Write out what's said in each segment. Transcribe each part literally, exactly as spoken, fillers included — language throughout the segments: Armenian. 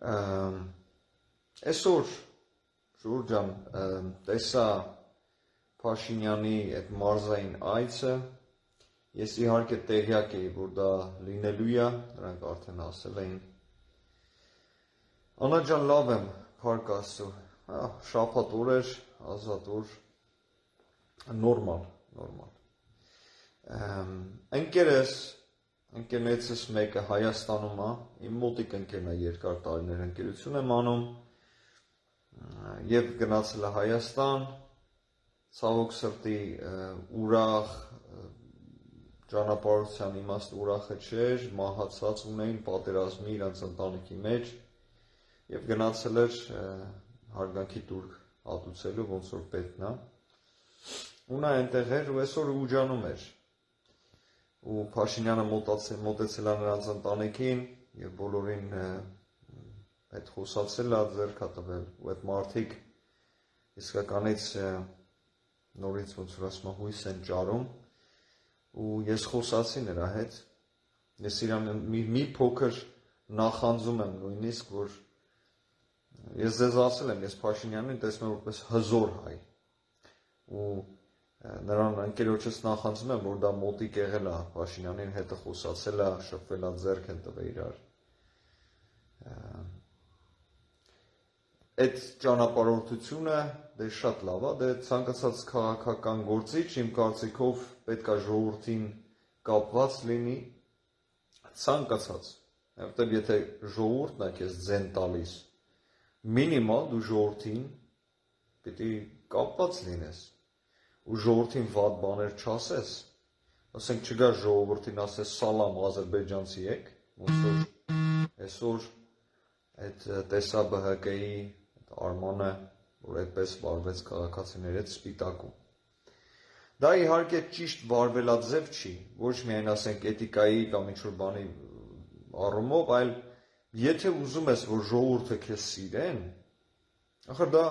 Այսօր Ժուր ջան տեսա Փաշինյանի այդ մարզային այցը, ես իհարկե տեղյակ էի, որ դա լինելու է, նրանք արդեն ասել էին։ Անա ջան, լավ եմ, փառք Աստծո, շաբաթ օր էր, ազատ օր, նորմալ, նորմալ։ Ընկերս, ընկերներիցս մեկը Հայաստանում է, իմ մոտիկ ընկերն է, երկար տարիներ ընկերություն եմ անում, եւ գնացել է Հայաստան, ցավոք սրտի ուրախ ճանապարհության իմաստը ուրախը չէր, մահացած ունեին պատերազմի իրենց ընտանիքի մեջ եւ գնացել էր հարգանքի տուրք ատուցելու, ոնց որ պետքն է։ Ու նա այնտեղ էր ու այսօր ուջանում էր։ Ու Փաշինյանը մոտեցել է նրանց ընտանիքին եւ բոլորին այդ խոսացել է, ձեռք է տվել ու այդ մարդիկ իսկականից նորից ոնց որ ասում հույս են ճարում ու ես խոսացի նրա հետ, ես իրան մի, մի փոքր նախանձում եմ նույնիսկ, որ ես ձեզ ասել եմ, ես Փաշինյանին տեսնում եմ որպես հզոր հայ ու նրան ընկերոջս նախանձում եմ, որ դա մոտիկ եղել է Փաշինյանին հետը խոսացել է, շփվել է, ձեռք են տվել իրար։ Այդ ճանապարհորդությունը դե շատ լավ է, դե ցանկացած քաղաքական գործիչ իմ կարծիքով պետք է ժողովրդին կապված լինի, ցանկացած, որտեղ եթե ժողովուրդն է քեզ ձեն տալիս, մինիմալ դու ժողովրդին պիտի կապված լինես, ու ժողովրդին վատ բաներ չասես, ասենք չգա ժողովրդին ասես սալամ ադրբեջանցի եք, ոնց որ այսօր այդ տեսա B H K-ի Արմանը, որ այդպես վարվեց քաղաքացիների հետ սպիտակում։ Դա իհարկե ճիշտ վարվելաձև չի, ոչ միայն ասենք էթիկայի կամ ինչ-որ բանի առումով, այլ եթե ուզում ես, որ ժողովուրդը քեզ սիրեն, ախր դա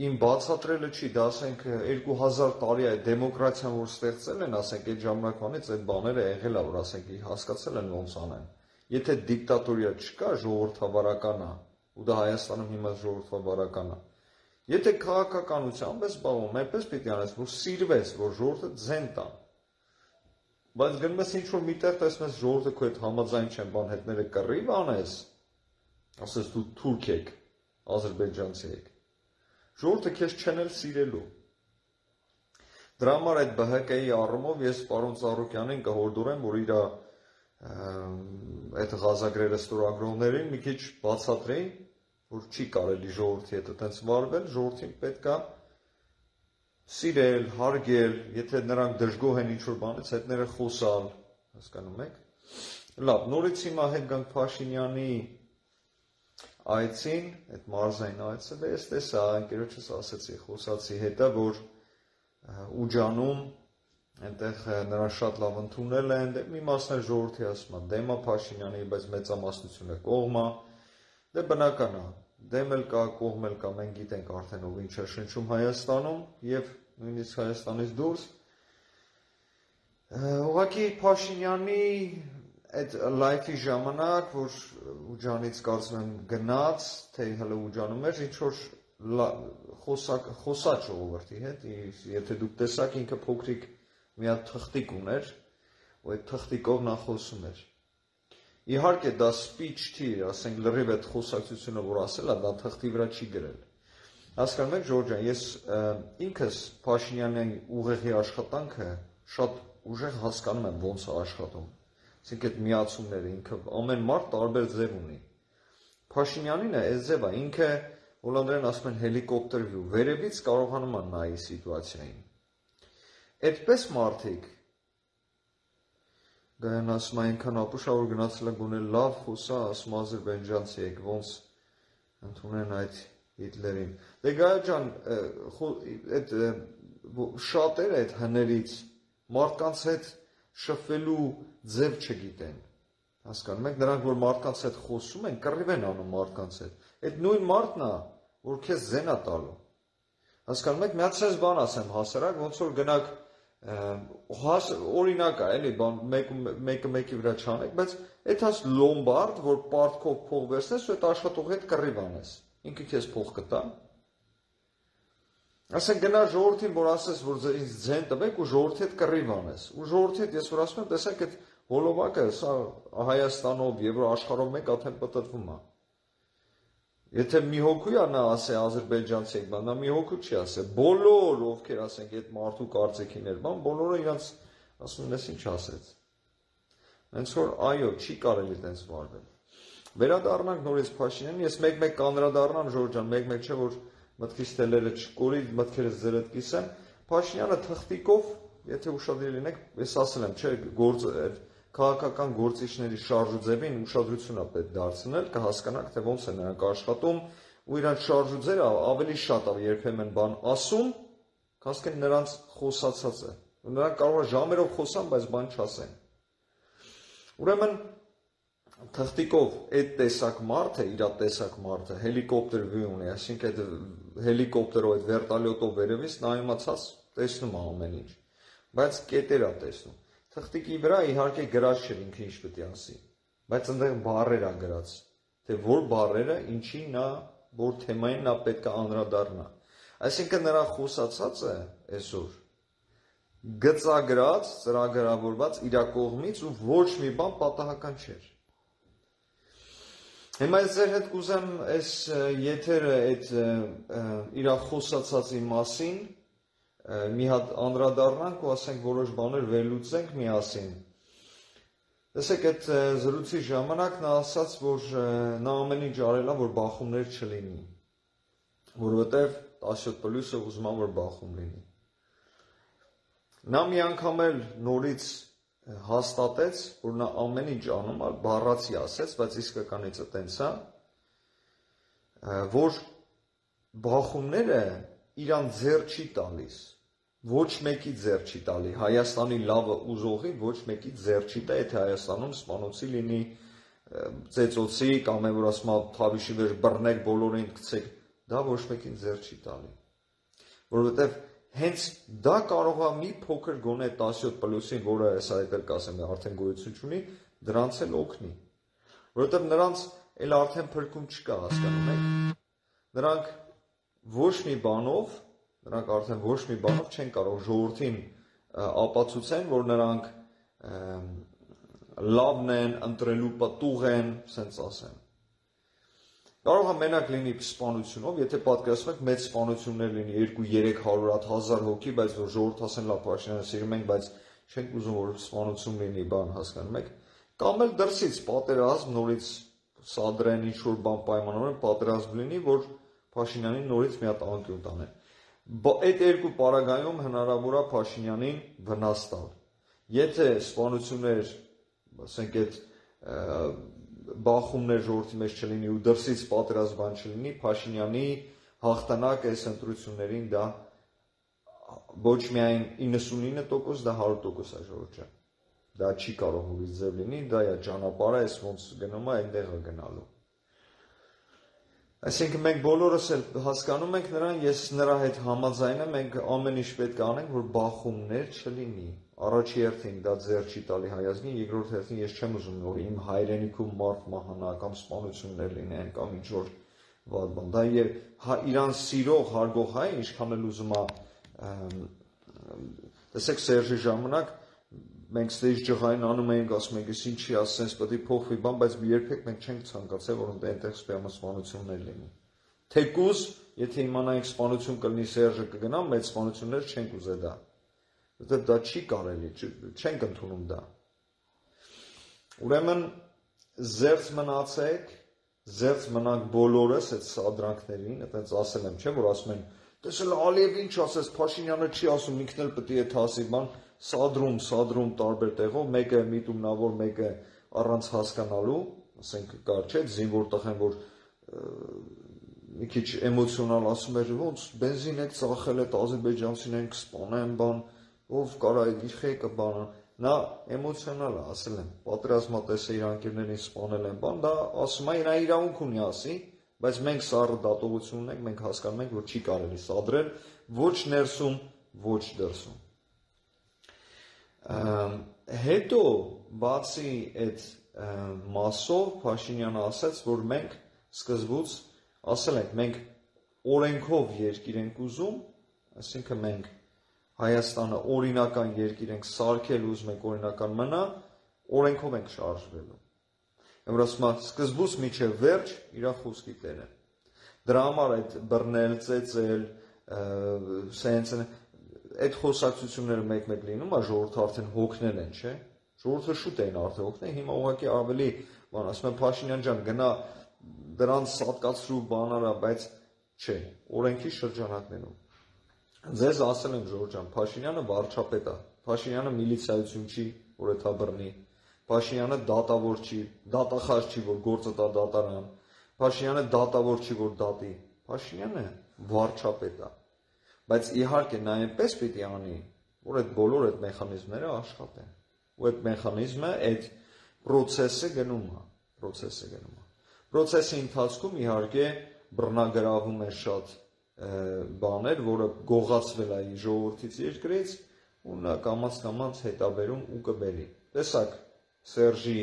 իմ բացատրելը չի, դա ասենք երկու հազար տարի է դեմոկրատիան, որ ստեղծել են, ասենք այդ ժամանակվանից այդ բաները եղել է, որ ասենք հասկացել են ոնց անեն։ Եթե դիկտատորիա չկա, ժողովրդավարական է, ու դա Հայաստանում հիմա ժողովրդավարական է։ Եթե քաղաքականությամբ ես զբաղվում, այնպես պիտի անես, որ սիրվես, որ ժողովուրդը ձեն տան։ Բայց գնում ես ինչ-որ միտեղ տեսնես ժողովուրդը քո հետ համաձայն չեն, բան հետները կռիվ անես, ասես դու թուրք եք, ադրբեջանցի եք։ Ժողովուրդը քեզ չեն էլ սիրելու։ Դրա համար այդ B H K-ի առումով ես պարոն Ծառուկյանին կհորդորեմ, որ իր այդ ղազագրերը ստորագրողներին մի քիչ բացատրեին, որ չի կարելի ժողովրդի հետ այդպես վարվել, ժողովրդին պետք է սիրել, հարգել, եթե նրանք դժգոհ են ինչ-որ բանից, հետները խոսալ, հասկանում եք։ Լավ, նորից հիմա հետ գանք Փաշինյանի այցին, այդ մարզային այցը, ես տեսա, ընկերոջս ասեցի, խոսացի հետը, որ ուջանում այնտեղ նրան շատ լավ ընդունել են, մի մասն էլ ժողովրդի ասում է դեմ է Փաշինյանի, բայց մեծամասնությունը կողմ է, դե բնական է, դեմ էլ կա, կողմ էլ կա, մենք գիտենք արդեն ով ինչ է շնչում Հայաստանում եւ նույնիսկ Հայաստանից դուրս։ Ուղղակի Փաշինյանի այդ լայֆի ժամանակ, որ ուջանից կարծում եմ գնաց, թե հələ ուջանում էր, ինչ որ խոսա ժողովրդի հետ, եթե դուք տեսաք ինքը փոքրիկ մի հատ թղթիկ ուներ, ու այդ թղթիկով նա խոսում էր։ Իհարկե դա speech չի, ասենք լրիվ այդ խոսակցությունը, որ ասել է, դա թղթի վրա չի գրել։ Հասկանում եք, Ժորժ ջան, ես ինքս Փաշինյանի ուղեղի աշխատանքը շատ ուժեղ հասկանում եմ ոնց է աշխատում։ Այսինքն այդ միացումները ինքը ամեն մարդ տարբեր ձև ունի։ Փաշինյանինը այս ձևը ինքը հոլանդերեն ասում են հելիկոպտեր view, վերևից կարողանում է նայի սիտուացիային։ Այդպես մարդիկ գան ասում այնքան ապուշա, որ գնացել է գոնե լավ խոսա, ասում ադրբեջանցի եք, ոնց ընդունեն այդ Հիտլերին։ Դե գայա ջան, այդ շատերը այդ հներից մարդկանց հետ շփվելու ձև չգիտեն։ Հասկանում եք, նրանք որ մարդկանց հետ խոսում են, կռիվ են անում մարդկանց հետ։ Այդ նույն մարդն է, որ քեզ զեն է տալու։ Հասկանում եք, մի հատ sense բան ասեմ հասարակ, ոնց որ գնաք օրինակ է, էլի, բան մեկը մեկի վրա չանեք, բայց այդ հաս լոմբարդ, որ պարտքով փող վերցնես, ու այդ աշխատողի հետ կռիվ անես, ինքը քեզ փող կտա։ Ասենք գնա ժողովրդին, որ ասես, որ ինձ ձեն տվեք ու ժողովրդի հետ կռիվ անես, ու ժողովրդի հետ ես որ ասում եմ, տեսեք այդ հոլովակը, սա Հայաստանով, Եվրոաշխարհով մեկ արդեն պտտվում է։ Եթե մի հոգու է նա ասե ադրբեջանցի եք, նա մի հոգու չի ասե, բոլոր ովքեր ասենք այդ մարդու կարծիքին էր, բան, բոլորը իրանց ասում են, ես ինչ ասեց։ Հենց որ այո, չի կարելի այդպես վարվել։ Վերադառնանք նորից Փաշինյանին, ես մեկ-մեկ կանդրադառնամ Ժորժ ջան, մեկ-մեկ չէ որ մտքից տելերը չկորի, մտքերս ձերդ կիսեմ, Փաշինյանը թղթիկով, եթե ուշադրի լինեք, ես ասել եմ, չէ, գործ քաղաքական գործիչների շարժուձևին ուշադրություն է պետք դարձնել, կհասկանաք, թե ոնց է նրանք աշխատում, ու իրանց շարժուձևը ավելի շատ է երբեմն բան ասում, քան նրանց խոսացածը։ Նրանք կարող է ժամերով խոսան, բայց բան չասեն։ Ուրեմն թղթիկով այդ տեսակ մարդը, իր տեսակ մարդը հելիկոպտեր վի ունի, այսինքն այդ հելիկոպտերով, այդ վերտալյոտով վերևից նայումացած տեսնում է ամեն ինչ, բայց կետեր է տեսնում։ Թղթիկի վրա իհարկե գրած չէր ինքը ինչ պետք է ասի, բայց այնտեղ բառեր է գրած, թե որ բառերը ինչի նա, որ թեմային նա պետք է անդրադառնա։ Այսինքն նրա խոսացածը այսօր գծագրած, ծրագրավորված իր կողմից ու ոչ մի բան պատահական չէր։ Հիմա ես ձեր հետ կուզեմ այս եթերը այդ իր խոսացածի մասին մի հատ անդրադառնանք ու ասենք որոշ բաներ վերլուծենք միասին։ Տեսեք այդ զրույցի ժամանակ նա ասաց, որ նա ամեն ինչ արել է, որ բախումներ չլինի, որովհետև տասնյոթ պլյուսը ուզում է, որ բախում լինի։ Նա մի անգամ էլ նորից հաստատեց, որ նա ամեն ինչ անում է, բառացի ասեց, բայց իսկականիցը տենց է, որ բախումները իրան ձեռ չի տալիս, ոչ մեկի ձեռ չի տալի, Հայաստանի լավը ուզողի ոչ մեկի ձեռ չի տա, եթե Հայաստանում սպանոցի լինի, ծեծոցի, կամ է որ ասում է թավիշի վեր բռնեք, բոլորին գցեք, դա ոչ մեկին ձեռ չի տալի, որովհետև հենց դա կարող է մի փոքր գոնե տասնյոթ պլյուսին, որը այս այդ էլ կասեմ, արդեն գոյություն չունի, դրանց էլ օգնի, որովհետև նրանց էլ արդեն փրկում չկա, հասկանում եք, նրանք ոչ մի բանով, նրանք արդեն ոչ մի բանով չեն կարող ժողովրդին ապացուցեն, որ նրանք լավն են, ընտրելու պտուղ են, սենց ասեն։ Կարող է մենակ լինի սպանությունով, եթե պատկերացնում եք մեծ սպանություններ լինի երկու երեք հարյուր հազար հոգի, բայց որ ժողովուրդ ասեն լավ Փաշինյանը սիրում ենք, բայց չենք ուզում որ սպանություն լինի, բան հասկանում եք, կամ էլ դրսից պատերազմ նորից սադրեն ինչ որ բան պայմանավորեն, պատերազմ լինի, որ Փաշինյանին նորից մի հատ անկյուն տանեն։ Այդ երկու պարագայում հնարավոր է Փաշինյանին վնաս տալ։ Եթե սպանություններ, ասենք այդ բախումներ ժողովրդի մեջ չլինի ու դրսից պատերազմ բան չլինի, Փաշինյանի հաղթանակ այս ընտրություններին դա ոչ միայն իննսունինը տոկոս, դա հարյուր տոկոս է ժողովրդի։ Դա չի կարող ուրիշ ձև լինի, դա է ճանապարհը, այս ոնց գնում է, այնտեղ է գնալու։ Այսինքն մենք բոլորս էլ հասկանում ենք նրան, ես նրա հետ համաձայն եմ, մենք ամեն ինչ պետք է անենք, որ բախումներ չլինի։ Առաջի հերթին դա ձեռ չի տալի հայազգին, երկրորդ հերթին ես չեմ ուզում որ իմ հայրենիքում մարդ մահանա կամ սպանություններ լինեն կամ ինչ որ վատ բան։ Դա իրան սիրող, հարգող հայ ինչքան էլ ուզում է, տեսեք Սերժի ժամանակ մենք ստեյջ ջղային անում էինք, ասում ենք, ես ինչի ասենց պետք է փոխվի բան, բայց երբեք մենք չենք ցանկացել, որ այնտեղ սպանություններ լինի։ Թեկուզ, եթե իմանայինք սպանություն կլինի Սերժը կգնա, մեծ սպանություններ չենք ուզել դա։ Որտեղ դա չի կարելի, չենք ընդունում դա։ Ուրեմն զերծ մնացեք, զերծ մնանք բոլորս այդ սադրանքներին, այդպես ասել եմ, չէ՞ որ ասում են, տեսել Ալիև ինչ ասես, Փաշինյանը չի ասում, ինքն էլ պետք է այդ ասի, բան, սադրում, սադրում տարբեր տեղով, մեկը միտումնավոր, մեկը առանց հասկանալու, ասենք կար չէ, զինվոր տղեն, որ մի քիչ էմոցիոնալ ասում էր, ոնց բենզին եք ծախել, այդ ադրբեջանցիներին կսպանեն, բան, ով կարա իր խեկը բանը, նա էմոցիոնալ է, ասել եմ, պատերազմատեսը իր անկերներին սպանել են, բան, դա ասում է, նա իրավունք ունի ասի, բայց մենք սառը դատողություն ունենք, մենք հասկանում ենք, որ չի կարելի սադրել ոչ ներսում, ոչ դրսում։ Հետո բացի այդ մասով Փաշինյանը ասաց, որ մենք սկզբուց ասել ենք, մենք օրենքով երկիր ենք ուզում, այսինքն մենք Հայաստանը օրինական երկիր ենք սարքել, ուզում ենք օրինական մնա, օրենքով ենք շարժվելու։ Որ ասում է սկզբուց միջև վերջ իր խոսքի տերը։ Դրա համար այդ բռնել, ծեծել, սենց այդ խոսակցությունները մեկ-մեկ լինում է, ժողովուրդը արդեն հոգնել են, չէ՞։ Ժողովուրդը շուտ էին արդեն հոգնել, հիմա ուղղակի ավելի, բան, ասում են Փաշինյան ջան, գնա դրանց սատկացրու բանարա, բայց չէ, օրենքի շրջանակներում։ Ձեզ ասել եմ Ժորժ ջան, Փաշինյանը վարչապետ է, Փաշինյանը միլիցիայություն չի, որ էթա բռնի, Փաշինյանը դատավոր չի, դատախազ չի, որ գործը տա դատարան, Փաշինյանը դատավոր չի, որ դատի, Փաշինյանը վարչապետ է, բայց իհարկե նա այնպես պիտի անի, որ այդ բոլոր այդ մեխանիզմները աշխատեն, ու այդ մեխանիզմը, այդ պրոցեսը գնում է, պրոցեսը գնում է, պրոցեսի ընթացքում իհարկե բռնագրավում է շատ բաներ, որը գողացվել է ժողովրդից երկրից, ու նա կամաց-կամաց հետաբերում ու կբերի, տեսակ, Սերժի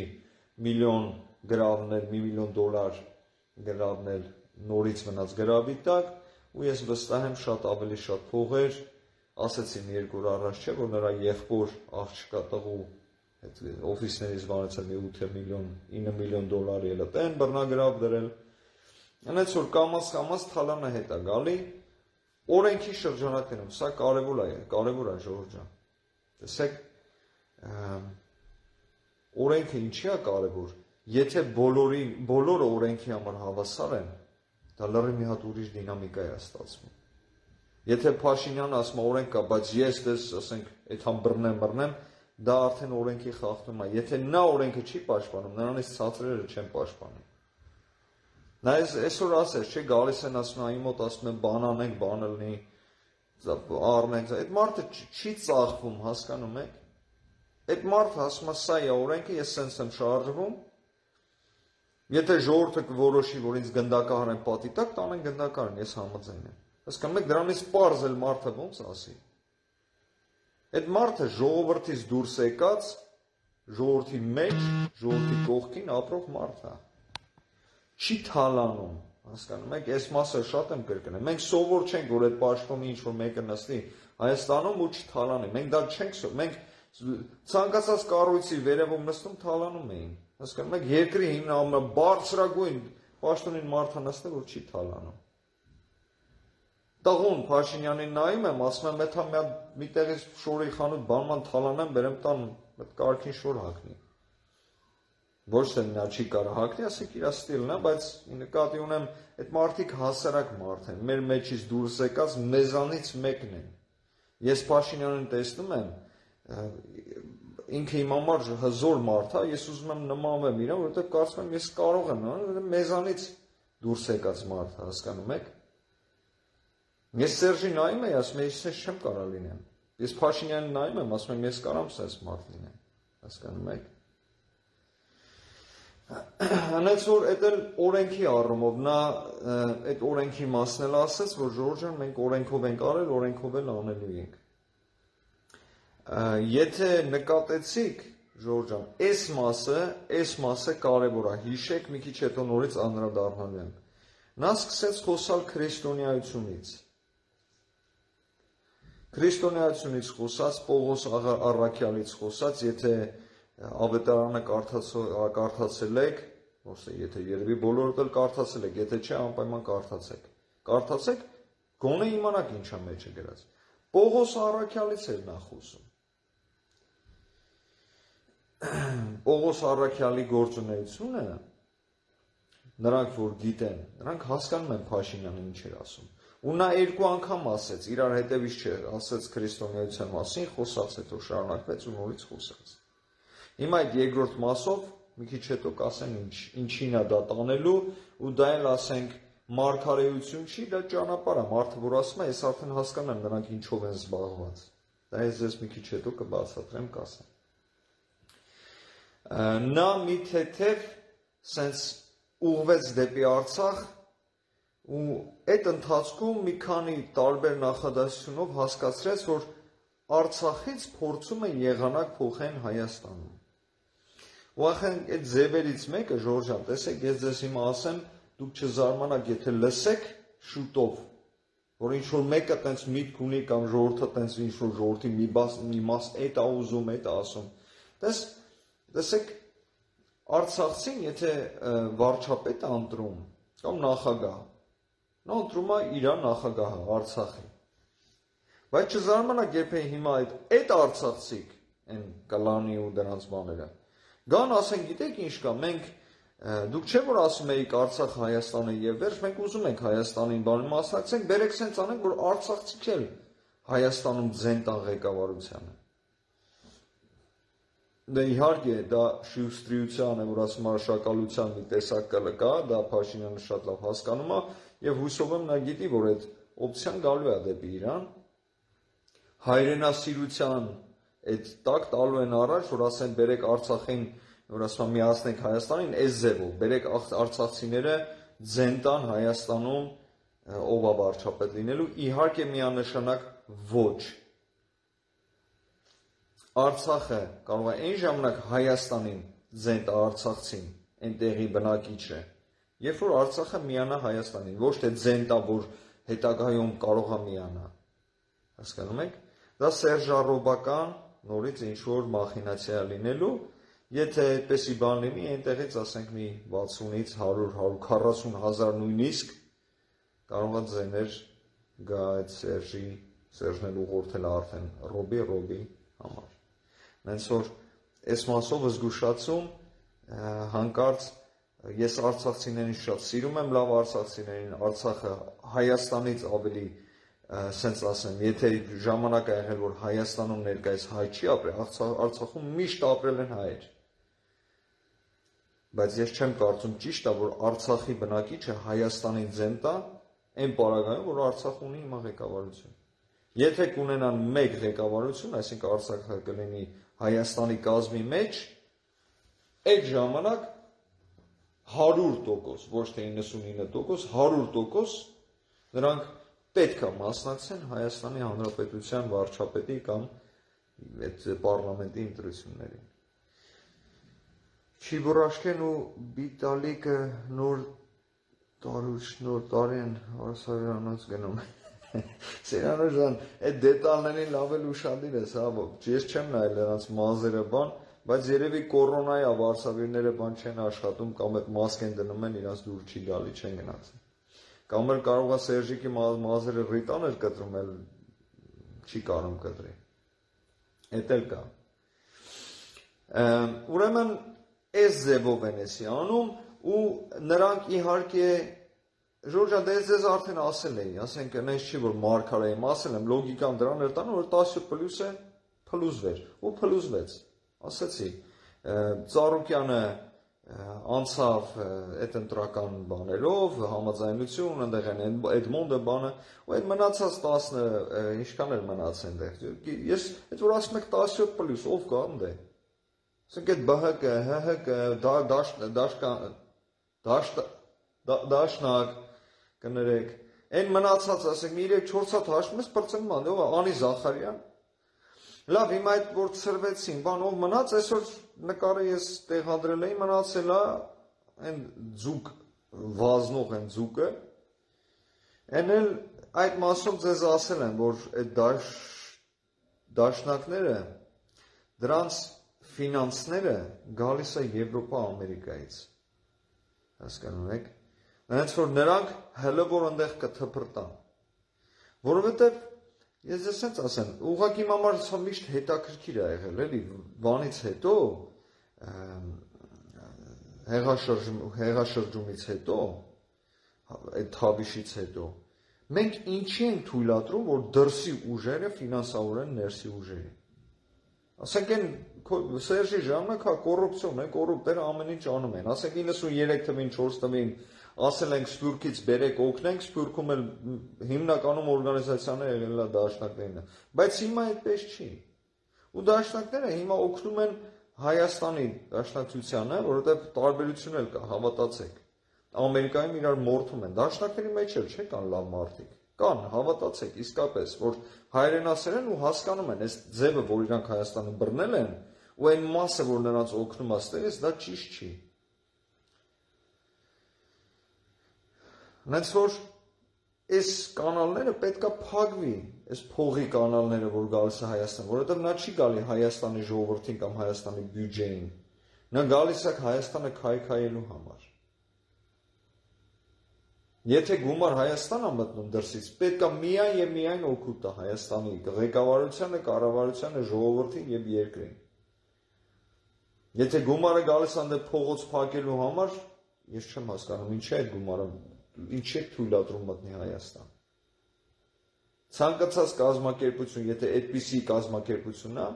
միլիոն գրավնել, մի միլիոն դոլար գրավնել նորից մնաց գրավի տակ, ու ես վստահ եմ շատ ավելի շատ փողեր, ասեցին երկու օր առաջ չէ, որ նրա եղբոր աղջկա տղու օֆիսներից վարեցել մի ութ միլիոն, ինը միլիոն դոլար ելը տեն բռնագրավ դրել, այնց որ կամաց-կամաց թալանը հետ է գալի, օրենքի շրջանակներում, սա կարևոր է, կարևոր է Ժորժ ջան, տեսեք, օրենքը ինչի է կարևոր, եթե բոլորը օրենքի համար հավասար են, դա լրի մի հատ ուրիշ դինամիկա է ստացվում։ Եթե Փաշինյանը ասում է օրենք կա, բայց ես դες ասենք այդքան բռնեմ, բռնեմ, դա արդեն օրենքի խախտում է։ Եթե նա օրենքը չի պաշտպանում, նրանից ցածրերը չեն պաշտպանում։ Նա այսօր ասես, չէ, գալիս են ասում, այ մոտ ասում են բան անենք, բանը լինի, առնենք, այդ մարդը չի ծախվում, հասկանում եք։ Այդ մարդը ասում է, սա է օրենքը, ես սենց եմ շարժվում։ Եթե ժողովուրդը կորոշի, որ ինձ գնդակահար են պատի տակ, տանեն գնդակահարն, ես համաձայն եմ։ Հասկանում եք, դրանից պարզ էլ մարդը ոնց ասի։ Այդ մարդը ժողովրդից դուրս եկած, ժողովրդի մեջ, ժողովրդի կողքին ապրող մարդ է։ Չի թալանում, հասկանում եք, այս մասը շատ եմ կրկնել։ Մենք սովոր չենք, որ այդ պաշտոնի ինչ-որ մեկը նստի Հայաստանում ու չթալանի։ Մենք դա չենք սովոր, մենք ցանկացած կառույցի վերևում նստում թալանում էին։ Հասկանում եք, երկրի ամենաբարձրագույն պաշտոնին մարդը նստել, որ չի թալանում։ Տղուն Փաշինյանին նայում եմ, ասում եմ, եթե մի տեղից շորի խանութ բանման թալանեմ, բերեմ տան, այդ կարգին շոր հագնի։ Ոչ թե նա չի կարող հագնի, ասեք իր ստիլն է, բայց նկատի ունեմ, այդ մարդիկ հասարակ մարդ են, մեր մեջից դուրս եկած մեզանից մեկն են։ Ես Փաշինյանին տեսնում եմ, ինքը իմ համար հզոր մարդ է, ես ուզում եմ նմանվեմ իրան, որովհետև կարծում եմ ես կարող եմ, որովհետև մեզանից դուրս եկած մարդ, հասկանում եք։ Ես Սերժին նայում եմ, ասում եմ, ես ես չեմ կարող լինեմ։ Ես Փաշինյանին նայում եմ, ասում եմ, ես կարամ սենց մարդ լինեմ, հասկանում եք։ Հենց որ այդ էլ օրենքի առումով, նա այդ օրենքի մասն էլ ասեց, որ Ժորժ ջան, մենք օրենքով ենք արել, օրենքով էլ անելու ենք։ Եթե նկատեցիք, Ժորժ ջան, այս մասը, այս մասը կարևոր է, հիշեք, մի քիչ հետո նորից անդրադառնալու եմ։ Նա սկսեց խոսալ քրիստոնեությունից։ Քրիստոնեությունից խոսած, Պողոս Առաքյալից խոսած, եթե ավետարանը կարդացել եք, եթե երևի բոլորդ էլ կարդացել եք, եթե չէ, անպայման կարդացեք։ Կարդացեք, գոնե իմանաք ինչա մեջը գրած։ Պողոս Առաքյալից էր նա խոսում։ Պողոս Առաքյալի գործունեությունը, նրանք որ գիտեն, նրանք հասկանում են Փաշինյանը ինչ էր ասում։ Ու նա երկու անգամ ասեց, իրար հետևից չէ, ասեց քրիստոնեության մասին, խոսած հետո շարունակվեց ու նորից խոսած։ Հիմա այդ երկրորդ մասով մի քիչ հետո կասեն ինչ, ինչին է դա տանելու, ու դա էլ ասենք մարգարեություն չի, դա ճանապարհ է, մարդը որ ասում է, ես արդեն հասկանում եմ նրանք ինչով են զբաղված։ Դա ես ձեզ մի քիչ հետո կբացատրեմ, կասեմ։ Նա մի թեթև սենց ուղղվեց դեպի Արցախ, ու այդ ընթացքում մի քանի տարբեր նախադասությունով հասկացրեց, որ Արցախից փորձում են եղանակ փոխեն Հայաստանում։ Ուղղակի այդ ձևերից մեկը, Ժորժ ջան, տեսեք, ես ձեզ հիմա ասեմ, դուք չզարմանաք, եթե լսեք շուտով, որ ինչ-որ մեկը տենց միտք ունի կամ ժողովուրդը տենց ինչ-որ ժողովրդի մի բաս, մի մաս էդ է ուզում, էդ է ասում։ Տես, տեսեք, Արցախցին, եթե վարչապետ է ընտրում, կամ նախագահ, նա ընտրում է իր նախագահը, Արցախի։ Բայց չզարմանաք, երբ հիմա այդ արցախցիք են կլանի ու դրանց բաները։ Գան ասեն, գիտեք ինչ կա, մենք դուք չէ որ ասում եք Արցախ Հայաստանը եւ վերջ, մենք ուզում ենք Հայաստանին բանում մասնակցենք, բերեք սենց անենք, որ արցախցիք էլ Հայաստանում ձեն տան ղեկավարությանը։ Դե իհարկե դա շիուստրիության է, որ ասում արշակալության մի տեսակ կա, դա Փաշինյանը շատ լավ հասկանում է եւ հույսով եմ նա գիտի, որ այդ օպցիան գալու է դեպի Իրան։ Հայրենասիրության այդ տակ տալու են առաջ, որ ասեն բերեք Արցախին, որ ասում միացնենք Հայաստանին, այս ձևով, բերեք արցախցիները ձեն տան Հայաստանում ով է վարչապետ լինելու, իհարկե միանշանակ ոչ։ Արցախը կարող է այն ժամանակ Հայաստանին ձեն տա արցախցին, այնտեղի բնակիչը, երբ որ Արցախը միանա Հայաստանին, ոչ թե ձեն տա, որ հետագայում կարող է միանա։ Հասկանում եք։ Դա սերժառոբական նորից ինչ-որ մախինացիա լինելու, եթե այդպեսի բան լինի, այնտեղից ասենք մի վաթսունից հարյուր հարյուր քառասուն հազար նույնիսկ կարող է ձեներ գա այդ Սերժի, Սերժն էլ ուղղորդել արդեն Ռոբի, Ռոբի համար։ Նենց որ այս մասով զգուշացում հանկարծ ես արցախցիներին շատ սիրում եմ, լավ արցախցիներին, Արցախը Հայաստանից ավելի սենց ասեմ, եթե ժամանակ է եղել, որ Հայաստանում ներկայիս հայ չի ապրել, Արցախում միշտ ապրել են հայեր։ Բայց ես չեմ կարծում ճիշտ է, որ Արցախի բնակիչը Հայաստանին ձեն տա, այն պարագայում, որ Արցախ ունի հիմա ղեկավարություն։ Եթե կունենան մեկ ղեկավարություն, այսինքն Արցախը կլինի Հայաստանի կազմի մեջ, այդ ժամանակ հարյուր տոկոս, ոչ թե իննսունինը տոկոս, հարյուր տոկոս նրանք պետք է մասնակցեն Հայաստանի Հանրապետության վարչապետի կամ այդ պարլամենտի ընտրություններին։ Չիբորաշկեն ու Բիտալիկը նոր տարուց նոր տարի են Արսավյանից գնում։ Սերանո ջան, այդ դետալներին լավ էլ ուշադիր ես, հա, ես չեմ նայել նրանց մազերը բան, բայց երևի կորոնայի է վարսավիրները բան չեն աշխատում կամ այդ մասկ են դնում են, իրանց դուր չի գալի, չեն գնացել։ Կամ էլ կարող է Սերժիկի մազերը ռիտան էր կտրում, էլ չի կարում կտրի։ Էդ էլ կա։ Ուրեմն այս ձևով են էսի անում ու նրանք իհարկե Ժորժա դες ձեզ արդեն ասել էի, ասենք այնպես չի որ մարգարեի ասել եմ, լոգիկան դրան էր տանում, որ տասը պլյուսը փլուզվեր, ու փլուզվեց։ Ասացի, Ծառուկյանը անցավ այդ ընտրական բաներով, համաձայնություն, այնտեղ են Էդմոնդը բանը, ու այդ մնացած տասը, ինչքան էր մնաց այնտեղ։ Ես այդ որ ասում եք տասը պլյուս, ով կա ընդ է։ Ասենք այդ ԲՀԿ, ՀՀԿ, դաշնակ կներեք, այն մնացած ասենք մի երեք-չորս հատ հաշվում ես պրծնման, ով Անի Զախարյան։ Լավ, հիմա այդ որ ծրվեցին, բան ով մնաց, այսօր նկարը ես տեղադրել էի, մնացել է այն ձուկ վազնող այն ձուկը։ Այն էլ այդ մասով ձեզ ասել եմ, որ այդ դաշ դաշնակները դրանց ֆինանսները գալիս է Եվրոպա, Ամերիկայից։ Հասկանում եք։ Նրանց որ նրանք հələ որ այնտեղ կթփրտան։ Որովհետև ես ես sense ասեմ, ուղղակի իմ համար սա միշտ հետաքրքիր է եղել, էլի, բանից հետո հեղաշրջումից հետո, այդ թավիշից հետո, մենք ինչի ենք թույլատրում, որ դրսի ուժերը ֆինանսավորեն ներսի ուժերի։ Ասենք են Սերժի ժամանակ հա կոռուպցիոն է, կոռուպտերը ամեն ինչ անում են։ Ասենք իննսուներեք թվին, չորս թվին ասել ենք Սփյուռքից բերեք օգնենք, Սփյուռքում էլ հիմնականում օրգանիզացիաները եղել է դաշնակներն, բայց հիմա այդպես չի։ Ու դաշնակները հիմա օգնում են Հայաստանի դաշնակցությանը, որովհետև տարբերություն էլ կա, հավատացեք։ Ամերիկայում իրար մորթում են, դաշնակների մեջ էլ չէ կան լավ մարդիկ։ Կան, հավատացեք, իսկապես, որ հայրենասեր են ու հասկանում են, այս ձևը, որ իրանք Հայաստանը բռնել են, ու այն մասը, որ նրանց օգնում է ստերից, դա ճիշտ չի։ Հենց որ այս կանալները պետքա փակվի, այս փողի կանալները, որ գալիս է Հայաստան, որովհետև նա չի գալի Հայաստանի ժողովրդին կամ Հայաստանի բյուջեին, նա գալիս է Հայաստանը քայքայելու համար։ Եթե գումար Հայաստան է մտնում դրսից, պետքա միայն եւ միայն օգուտ տա Հայաստանի ղեկավարությանը, կառավարությանը, ժողովրդին եւ երկրին։ Եթե գումարը գալիս է այնտեղ փողոց փակելու համար, ես չեմ հասկանում ինչի է այդ գումարը, ինչի է թույլատրում մտնի Հայաստան։ Ցանկացած կազմակերպություն, եթե այդպիսի կազմակերպություն է,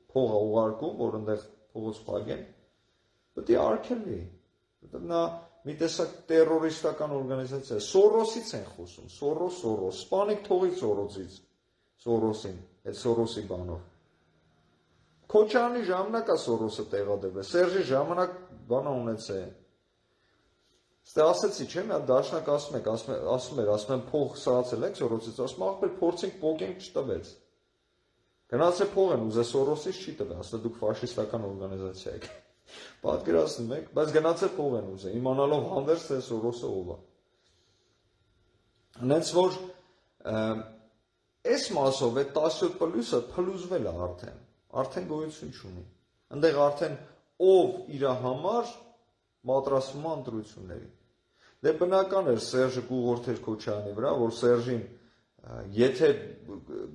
փող է ուղարկում, որ այնտեղ փողոց փակեն, պետք է արգելվի։ Որտեղ նա մի տեսակ տերորիստական օրգանիզացիա է, Սորոսից են խոսում, Սորոս, Սորոս, սպանիք թողի Սորոսից, Սորոսին, այդ Սորոսի բանով։ Քոչարյանի ժամանակ է Սորոսը տեղադրվել, Սերժի ժամանակ բանը ունեցե։ Ստե ասեցի, չէ՞, մի հատ դաշնակ ասում եք, ասում էր, ասում եմ փող սրացել եք Սորոսից, ասում ախպեր փորձենք պոկենք չտվեց։ Գնացե փող են ուզե Սորոսից չի տվել, ասում դուք ֆաշիստական օրգանիզացիա եք։ Պատկերացնում եք, բայց գնացե փող են ուզե, իմանալով հանդերձ թե Սորոսը ով է։ Հենց որ այս մասով այդ տասնյոթ պլյուսը փլուզվել է արդեն, արդեն գոյություն չունի։ Այնտեղ արդեն ով իր համար պատրաստվում է ընտրությունների։ Դե բնական էր Սերժը կուղորթեր Քոչարյանի վրա, որ Սերժին եթե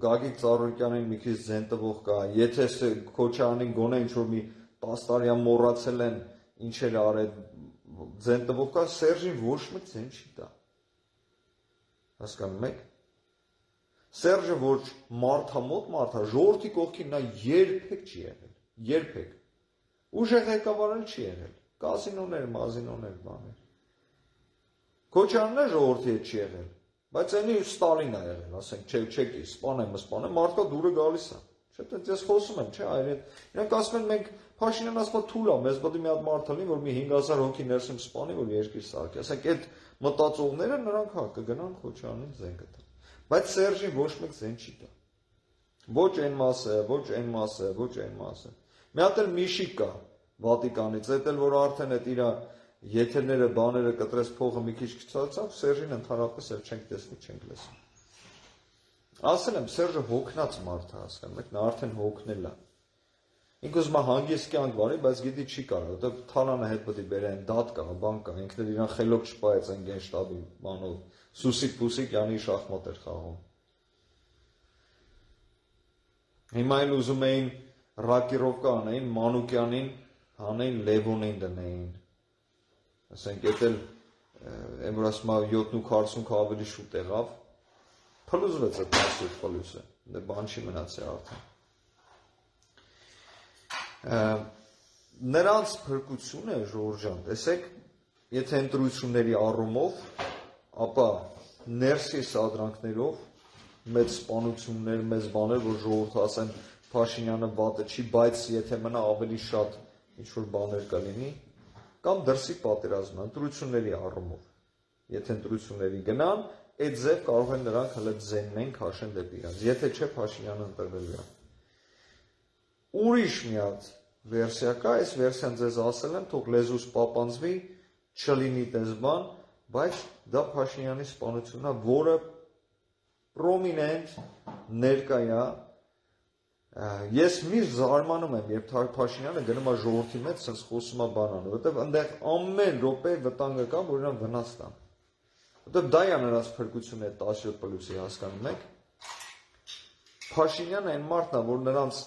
Գագիկ Ծառուկյանին մի քիչ ձեն տվող կա, եթե Քոչարյանին գոնե ինչ-որ մի տասը տարի մոռացել են ինչեր արել ձեն տվող կա, Սերժին ոչ մեկ ձեն չի տա։ Հասկանում եք։ Սերժը ոչ մարդամոտ մարդ է, ժողովրդի կողքին նա երբեք չի եղել, երբեք։ Ուժեղ ղեկավարել չի եղել, կազինոներ, մազինոներ, բաներ։ Քոչարյանն ժողովրդի հետ չի եղել, բայց այնի Ստալինն է եղել, ասենք, չէ, չեկի, սպանեմ, սպանեմ, մարդկա դուրը գալիս է։ Չէ՞, դե ես խոսում եմ, չէ, այր այդ։ Իրանք ասում են մենք Փաշինյանն ասում է թույլ է, մեզ պետք է մի հատ մարդ լինի, որ մի հինգ հազար հոգի ներսում սպանի, որ երկիր սարքի։ Ասենք այդ մտածողները նրանք հա կգնան Քոչարյանին ձեն կտան։ Բայց Սերժին ոչ մեկ ձեն չի տա։ Ոչ այն մասը, ոչ այն մասը, ոչ այն մասը։ Մի հատ էլ Միշիկ կա Վատիկանից, այդ էլ որ արդեն այդ իր եթերները, բաները կտրես փողը մի քիչ քչացավ, Սերժին ընդհանրապես էլ չենք տեսնի, չենք լսի։ Ասել եմ, Սերժը հոգնած մարդ է, հասկանում եք, նա արդեն հոգնել է։ Ինքը ուզում է հանգիստ կյանք վարի, բայց գիտի չի կարող, որտեղ Թալանը հետ պետք է բերեն, դատ կա, բան կա, ինքն էլ իրան խելոք չպայեց այն գենշտաբի բանով, Սուսիկ Պուսիկյանի շախմատ էր խաղում։ Հիմա էլ ուզում էին ռակիրովկա անեին, Մանուկյանին հանեին, Լևոնին դնեին։ Ասենք, էդ էլ, եմ որ ասում է յոթ քառսուն ավելի շուտ եղավ, փլուզվեց այդ տասնյոթ պլյուսը, դե բան չի մնացել արդեն։ Նրանց փրկությունը, Ժորժ ջան, տեսեք, եթե ընտրությունների առումով, ապա ներսի սադրանքներով, մեծ սպանություններ, մեծ բաներ, որ ժողովուրդը ասեն Փաշինյանը վատը չի, բայց եթե մնա ավելի շատ ինչ-որ բաներ կլինի, կամ դրսի պատերազմը, ընտրությունների առումով, եթե ընտրությունների գնան, այդ ձև կարող են նրանք հələ ձեննեն քաշեն դեպի իրենց, եթե չէ Փաշինյանը ընտրվելու է։ Ուրիշ մի հատ վերսիա կա, այս վերսիան ձեզ ասել եմ, թող լեզուս պապանձվի, չլինի տես բան, բայց դա Փաշինյանի սպանությունն է, որը պրոմինենտ ներկա է։ Ես միշտ զարմանում եմ, երբ Փաշինյանը գնում է ժողովրդի մեջ, sense խոսում է բանանը, որտեղ այնտեղ ամեն րոպե վտանգը կա, որ իրան վնաս տան։ Որտեղ դա է նրանց փրկությունը այդ տասնյոթ պլյուսի, հասկանում եք։ Փաշինյանը այն մարդն է, որ նրանց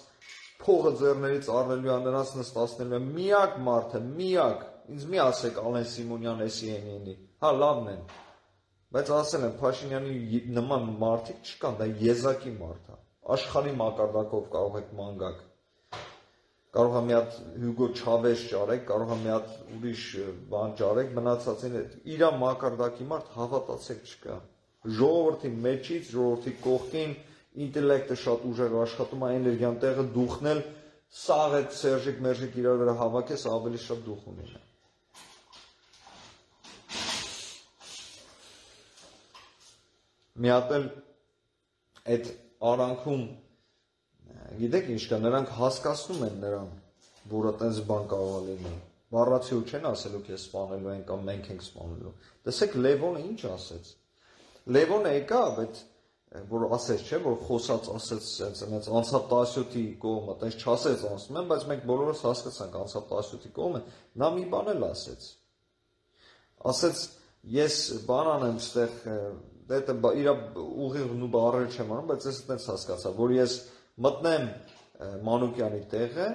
փողը ձեռներից առնելու է, նրանց նստացնելու է, միակ մարդը, միակ, ինձ մի ասեք Ալեն Սիմոնյան, էսի էնի, հա լավն են, բայց ասել եմ Փաշինյանի նման մարդիկ չկան, դա եզակի մարդ է, աշխարհի մակարդակով կարող եք մանգակ, կարող է մի հատ Հյուգո Չավեզ ճարեք, կարող է մի հատ ուրիշ բան ճարեք, մնացածին իր մակարդակի մարդ հավատացեք չկա, ժողովրդի մեջից, ժողովրդի կողքին, ինտելեկտը շատ ուժեղ աշխատում է, էներգիան տեղը դուխնել, սաղ այդ Սերժիկ Մերժիկ իրար վրա հավաքես, ավելի շատ դուխ ունի։ մի հատ էլ այդ արանքում գիտեք ինչ կա, նրանք հասկացնում են նրան, որ այդպես բան կարող է լինել։ Բառացիու չեն ասելու քեզ սպանելու են կամ մենք ենք սպանելու։ Տեսեք Լևոնը ինչ ասեց։ Լևոնը եկա, բայց որ ասեց, չէ, որ խոսած ասեց այնց անցավ տասյոթի կողմը, այնց չասեց ասում եմ, բայց մենք բոլորս հասկացանք անցավ տասյոթի կողմը, նա մի բան էլ ասեց։ Ասեց ես բան անեմ ստեղ, դա իր ուղիղ ու բառերը չեմ անում, բայց ես այդպես հասկացա, որ ես մտնեմ Մանուկյանի տեղը,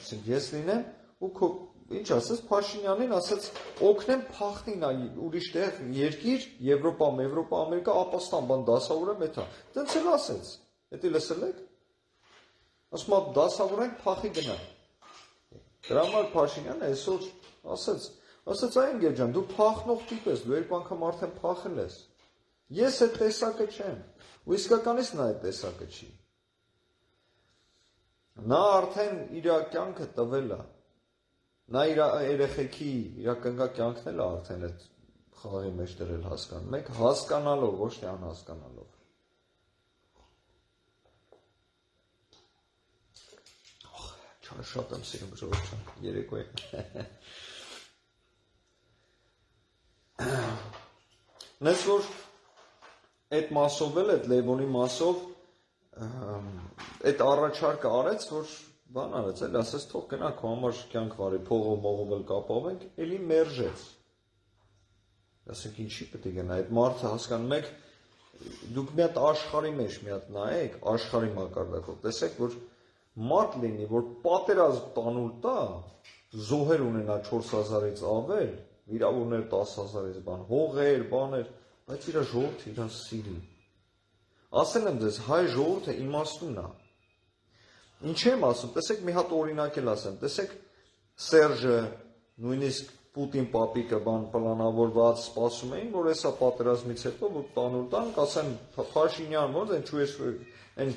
ասենք ես լինեմ ու քո ինչ ասեց Փաշինյանին, ասեց օգնեմ փախնի նա ուրիշ տեղ երկիր, Եվրոպա, Եվրոպա, Ամերիկա, ապաստան բան դասավորեմ էթա։ Դենց էլ ասեց։ Էդի լսել եք։ Ասում է դասավորենք փախի գնա։ Դրա համար Փաշինյանը այսօր ասեց, ասեց այ ընկեր ջան, դու փախնող տիպ ես, դու երկու անգամ արդեն փախել ես։ Ես այդ տեսակը չեմ։ Ու իսկականից նա այդ տեսակը չի։ Նա արդեն իր կյանքը տվել է։ Նա իր երեխեքի, իր կնգա կյանքն էլ արդեն այդ խաղի մեջ դրել հասկանում եք, հասկանալով, ոչ թե անհասկանալով։ Չար շատ եմ սիրում ժողովուրդ ջան, երեկոյին։ Նես որ այդ մասով էլ, այդ Լևոնի մասով այդ առաջարկը արեց, որ բան արեց, էլ ասեց թող գնանք քո համար կյանք վարի, փողով մողով էլ կապավենք, էլի մերժեց։ Ասենք ինչի պետք է գնա, այդ մարդը հասկանում եք, դուք մի հատ աշխարհի մեջ մի հատ նայեք, աշխարհի մակարդակով, տեսեք, որ մարդ լինի, որ պատերազմ տանուլ տա, զոհեր ունենա չորս հազարից ավել, վիրավորներ տասը հազարից բան, հողեր, բաներ, բայց իր ժողովուրդը իրան սիրի։ Ասել եմ ձեզ, հայ ժողովուրդը իմաստուն է։ Ինչ եմ ասում, տեսեք մի հատ օրինակ էլ ասեմ, տեսեք Սերժը, նույնիսկ Պուտին պապիկը բան պլանավորված սպասում էին, որ հեսա պատերազմից հետո որ տանուլ տանք, ասեն Փաշինյան, ոնց են Չուեշ այն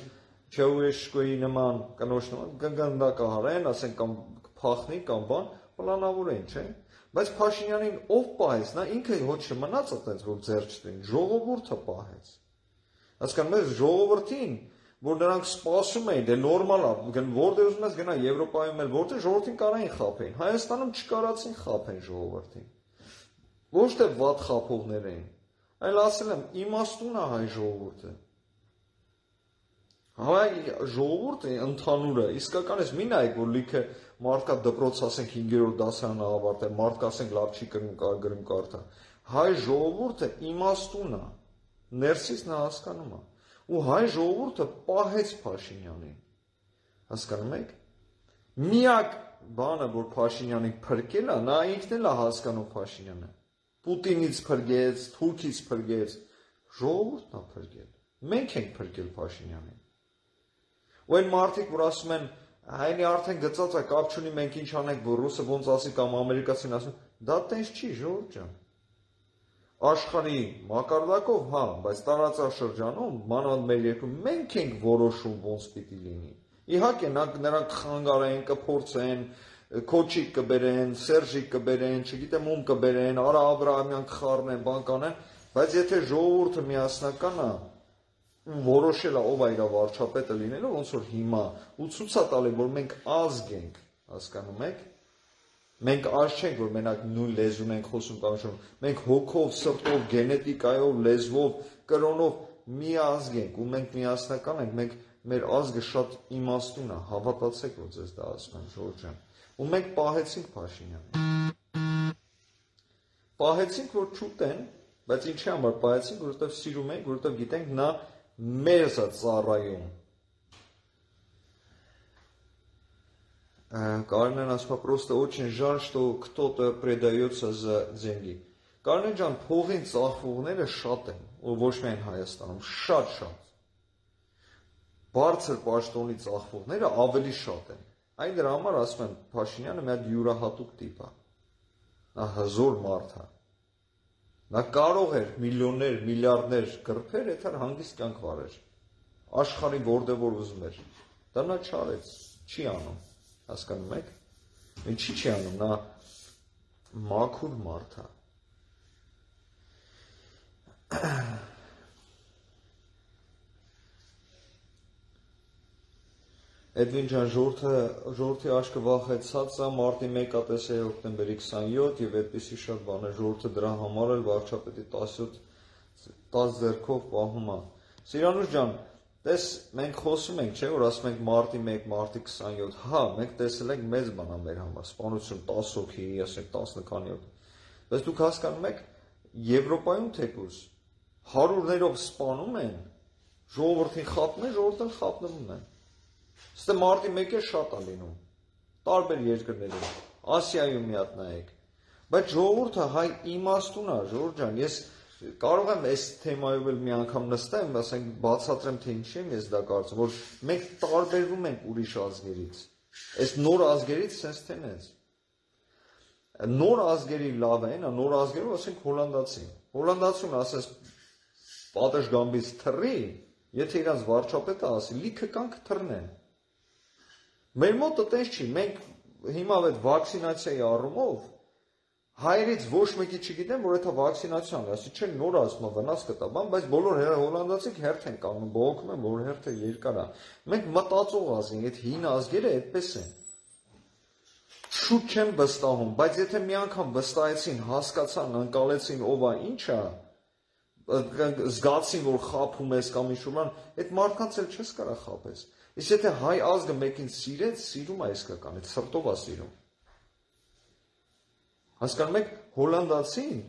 Չաուշկոյի նման կնոջ նման գնդակահարեն, ասեն կամ փախնի կամ բան, պլանավորեն, չէ՞։ Բայց Փաշինյանին ով պահեց, նա ինքը ոչ չմնաց այդպես որ ձեռ չտին, ժողովուրդը պահեց։ Հասկանում եք, ժողովրդին որ նրանք սպասում էին, դե նորմալ է, որտեղ ուզում ես գնա Եվրոպայում էլ, որտեղ ժողովրդին կարային խաբեն, Հայաստանում չկարացին խաբեն ժողովրդին։ Ոչ թե վատ խաբողներ էին, այլ ասել եմ, իմաստուն է հայ ժողովուրդը։ Հայ ժողովուրդը ընդհանուրը, իսկականից մի նայեք, որ լիքը մարդկա դպրոց ասենք հինգերորդ դասարանը ավարտել, մարդկա ասենք լավ չի գրում գրում կարդա։ Հայ ժողովուրդը իմաստուն է, ներսից նա հասկանում է։ Ու հայ ժողովուրդը պահեց Փաշինյանին, հասկանում եք, միակ բանը, որ Փաշինյանին փրկել է, նա ինքն էլ է հասկանում Փաշինյանը, Պուտինից փրկեց, Թուրքից փրկեց, ժողովուրդն է փրկել, մենք ենք փրկել Փաշինյանին, ու այն մարդիկ, որ ասում են, հայնի արդեն գծած է, կապ չունի, մենք ինչ անենք, որ ռուսը ոնց ասի կամ ամերիկացին ասում, դա տենց չի, ժողովուրդ ջան, աշխարհի մակարդակով, հա, բայց տարածաշրջանում, մանավանդ մեր երկրում մենք ենք որոշում ոնց պիտի լինի։ Իհարկե, նրանք խանգարեն, կփորձեն, Քոչիկ կբերեն, Սերժիկ կբերեն, չգիտեմ ում կբերեն, Արա Աբրահամյան կխառնեն, բան կանեն, բայց եթե ժողովուրդը միասնական է, որոշել է ով է իր վարչապետը լինելու, ոնց որ հիմա, ու ցույց է տալի, որ մենք ազգ ենք, հասկանում եք։ Մենք արժ չենք, որ մենակ նույն լեզուն ենք խոսում կամ շոն, մենք հոգով, սրտով, գենետիկայով, լեզվով, կրոնով մի ազգ ենք ու մենք միասնական ենք, մենք մեր ազգը շատ իմաստուն է, հավատացեք, որ ձեզ դա ասում եմ, ժողովուրդ ջան։ Ու մենք պահեցինք Փաշինյանին։ Պահեցինք, որ չուտեն, բայց ինչի համար պահեցինք, որովհետև սիրում ենք, որովհետև գիտենք նա մեզ է ծառայում։ Կարինեն ասում է, просто очень жаль, что кто-то предается за деньги։ Կարինեն ջան, փողին ծախվողները շատ են, ու ոչ միայն Հայաստանում, շատ-շատ։ Բարձր պաշտոնի ծախվողները ավելի շատ են։ Այն դրա համար ասում են, Փաշինյանը մի հատ յուրահատուկ տիպ է։ Նա հզոր մարդ է։ Նա կարող էր միլիոններ, միլիարդներ գրփեր, եթե հանգիստ կյանք վարեր։ Աշխարհի որտեղ որ ուզում էր։ Դա նա չարեց, չի անում։ Հասկանում եք։ Ինչի՞ չի անում, նա մաքուր մարդ է։ Էդվին ջան, ժողովրդի աշկը վախեցած է, մարտի մեկը տեսել հոկտեմբերի քսանյոթ եւ այդպիսի շատ բան է, ժողովուրդը դրա համար էլ վարչապետի տասյոթ տաս ձեռքով պահում է։ Սիրանուշ ջան, տես մենք խոսում ենք, չէ, որ ասում ենք մարտի մեկ, մարտի քսանյոթ, հա, մենք տեսել ենք մեծ բան է մեր համար, սպանություն տասը հոգի, ասենք տասնքանյոթ։ Բայց դուք հասկանում եք, Եվրոպայում թեկուզ հարյուրներով սպանում են, ժողովրդին խափում են, ժողովուրդը խափնվում են։ Ստե մարտի մեկը շատ է լինում, տարբեր երկրներում, Ասիայում մի հատ նայեք, բայց ժողովուրդը հայ իմաստուն է, ժողովուրդ ջան, ես կարող եմ այս թեմայով էլ մի անգամ նստեմ, ասենք բացատրեմ, թե ինչի եմ ես դա կարծում, որ մենք տարբերվում ենք ուրիշ ազգերից, այս նոր ազգերից sense թե նենց, նոր ազգերի լավ են, նոր ազգերով ասենք հոլանդացին, հոլանդացուն ասես պատշգամբից թռի, եթե իրանց վարչապետը ասի, լիքը կանք թռնեն։ Մեր մոտը տես չի, մենք հիմա այդ վակցինացիայի առումով հայերից ոչ մեկի չգիտեմ, որ դա վակցինացիան է, ասի չէ նոր ասում է վնաս կտա, բան, բայց բոլոր հոլանդացիք հերթ են կանգնում, բողոքում են, որ հերթը երկար է։ Մենք մտածող ազգ ենք, այդ հին ազգերը այդպես են։ Շուտ չեմ վստահում, բայց եթե մի անգամ վստահեցին, հասկացան, ընկալեցին ով է, ինչ է, զգացին, որ խափում ես կամ ինչ-որ բան, այդ մարդկանց էլ չես կարող խափես։ Իսկ եթե հայ ազգը մեկին սիրեց, սիրում է իսկական, այդ սրտով է սիրում։ Հասկանում եք, հոլանդացին,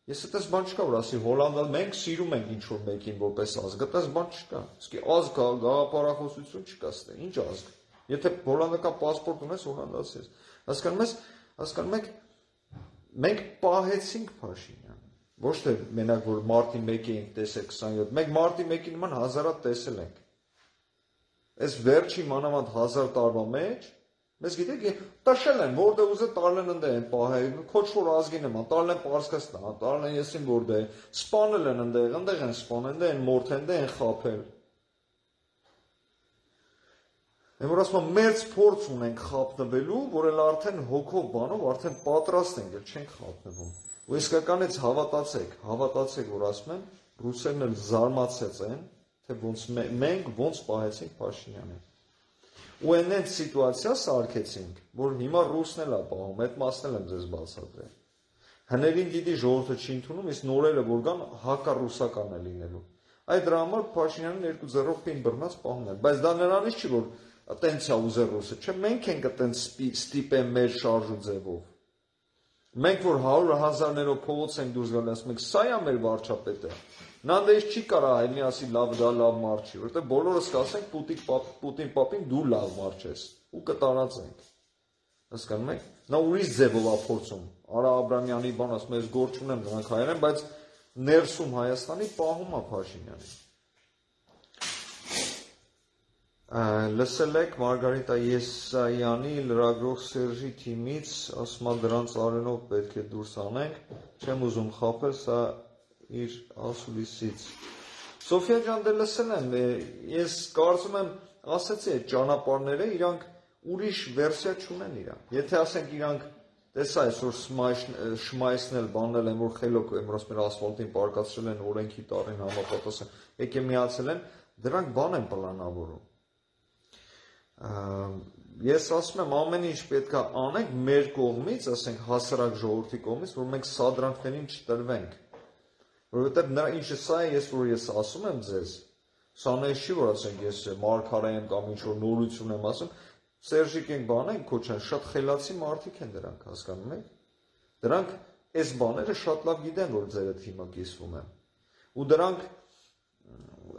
ես այդպես բան չկա, որ ասի հոլանդա, մենք սիրում ենք ինչ-որ մեկին որպես ազգ, այդպես բան չկա։ Իսկ ազգ գաղափարախոսություն չկա ստե, ինչ ազգ։ Եթե հոլանդական պասպորտ ունես, հոլանդացի ես։ Հասկանում ես, հասկանում եք, մենք պահեցինք Փաշինյանը։ Ոչ թե մենակ որ մարտի մեկի ենք տեսել քսանյոթ, մենք մարտի մեկի նման հազարատ տեսել ենք։ Այս վերջի մանավանդ հազար տարվա մեջ, մեզ գիտեք, տշել են, որտեղ ուզե տարլեն ընդ են պահել, քոչ որ ազգի նման, տարլեն Պարսկաստան, տարլեն եսին որտեղ, սպանել են ընդեղ, ընդեղ են սպանել, ընդեղ են մորթել, ընդեղ են խափել։ Եմ որ ասում եմ, մերձ փորձ ունենք խափնվելու, որ էլ արդեն հոգով բանով, արդեն պատրաստ ենք, էլ չենք խափնվում։ Ու իսկականից հավատացեք, հավատացեք, որ ասում եմ, ռուսերն էլ զարմացած են, թե ոնց մենք ոնց պահեցինք Փաշինյանին։ Ու այնենց սիտուացիա սարքեցինք, որ հիմա ռուսն էլ է պահում, այդ մասն էլ եմ ձեզ բացատրել։ Հներին գիտի ժողովուրդը չի ընդունում, իսկ նորերը որ կան հակառուսական է լինելու։ Այդ դրա համար Փաշինյանին երկու ձեռով պին բռնած պահում են, բայց դա նրանից չի, որ տենց է ուզել ռուսը, չէ, մենք ենք այտենց ստիպեն մեր շարժու ձևով։ Մենք որ հարյուր հազարներով փողոց ենք դուրս գալիս, ասում ենք, սա է մեր վարչապետը։ Նա դες չի կարա այմի ասի լավ դա լավ մարդ չի, որովհետև բոլորս կասենք Պուտին պապ, Պուտին պապին դու լավ մարդ ես ու կտարածենք։ Հասկանում եք։ Նա ուրիշ ձևով է փորձում։ Արա Աբրամյանի բան ասում ես գործ ունեմ դրանք հայերեն, բայց ներսում Հայաստանի պահում է Փաշինյանին։ Լսել եք Մարգարիտա Եսայանի լրագրող Սերժի թիմից, ասում է դրանց արենով պետք է դուրս անենք, չեմ ուզում խափել, սա իր ասուլիսից։ Սոֆիա ջան, դե լսել եմ, ես կարծում եմ, ասեցի այդ ճանապարհները իրանք ուրիշ վերսիա չունեն իրանք։ Եթե ասենք իրանք տեսա այսօր շմայսնել, բանել են, որ խելոք եմ ասում ասֆալտին պարկացրել են, օրենքի տարին համապատասխան, եկե միացել են, դրանք բան են պլանավորում։ Ես ասում եմ, ամեն ինչ պետք է անենք մեր կողմից, ասենք հասարակ ժողովրդի կողմից, որ մենք սադրանքներին չտրվենք։ Որովհետև նրա ինչը սա է, ես որ ես ասում եմ ձեզ, սա նես չի, որ ասենք ես մարգարե եմ կամ ինչ-որ նորություն եմ ասում, Սերժիկ ենք բան են քոչան, շատ խելացի մարդիկ են դրանք, հասկանում եք։ Դրանք այս բաները շատ լավ գիտեն, որ ձերդ հիմա կիսվում եմ։ Ու դրանք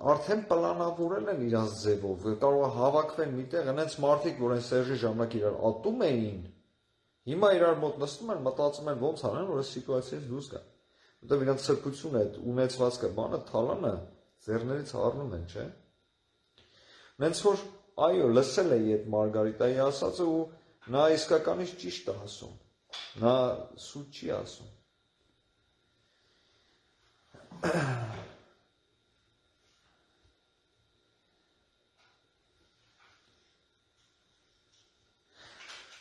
արդեն պլանավորել են իրանց ձևով, կարող է հավաքվել միտեղ, այնց մարդիկ, որ այն Սերժի ժամանակ իրար ատում էին, հիմա իրար մոտ նստում են, մտածում են ոնց անեն, որ այս սիտուացիայից դուրս գան։ Որտեղ իրանց սրբությունը, այդ ունեցվածքը, բանը, թալանը ձեռներից առնում են, չէ՞։ Նենց որ այո, լսել էի այդ Մարգարիտայի ասածը ու նա իսկականից ճիշտ է ասում։ Նա սուտ չի ասում։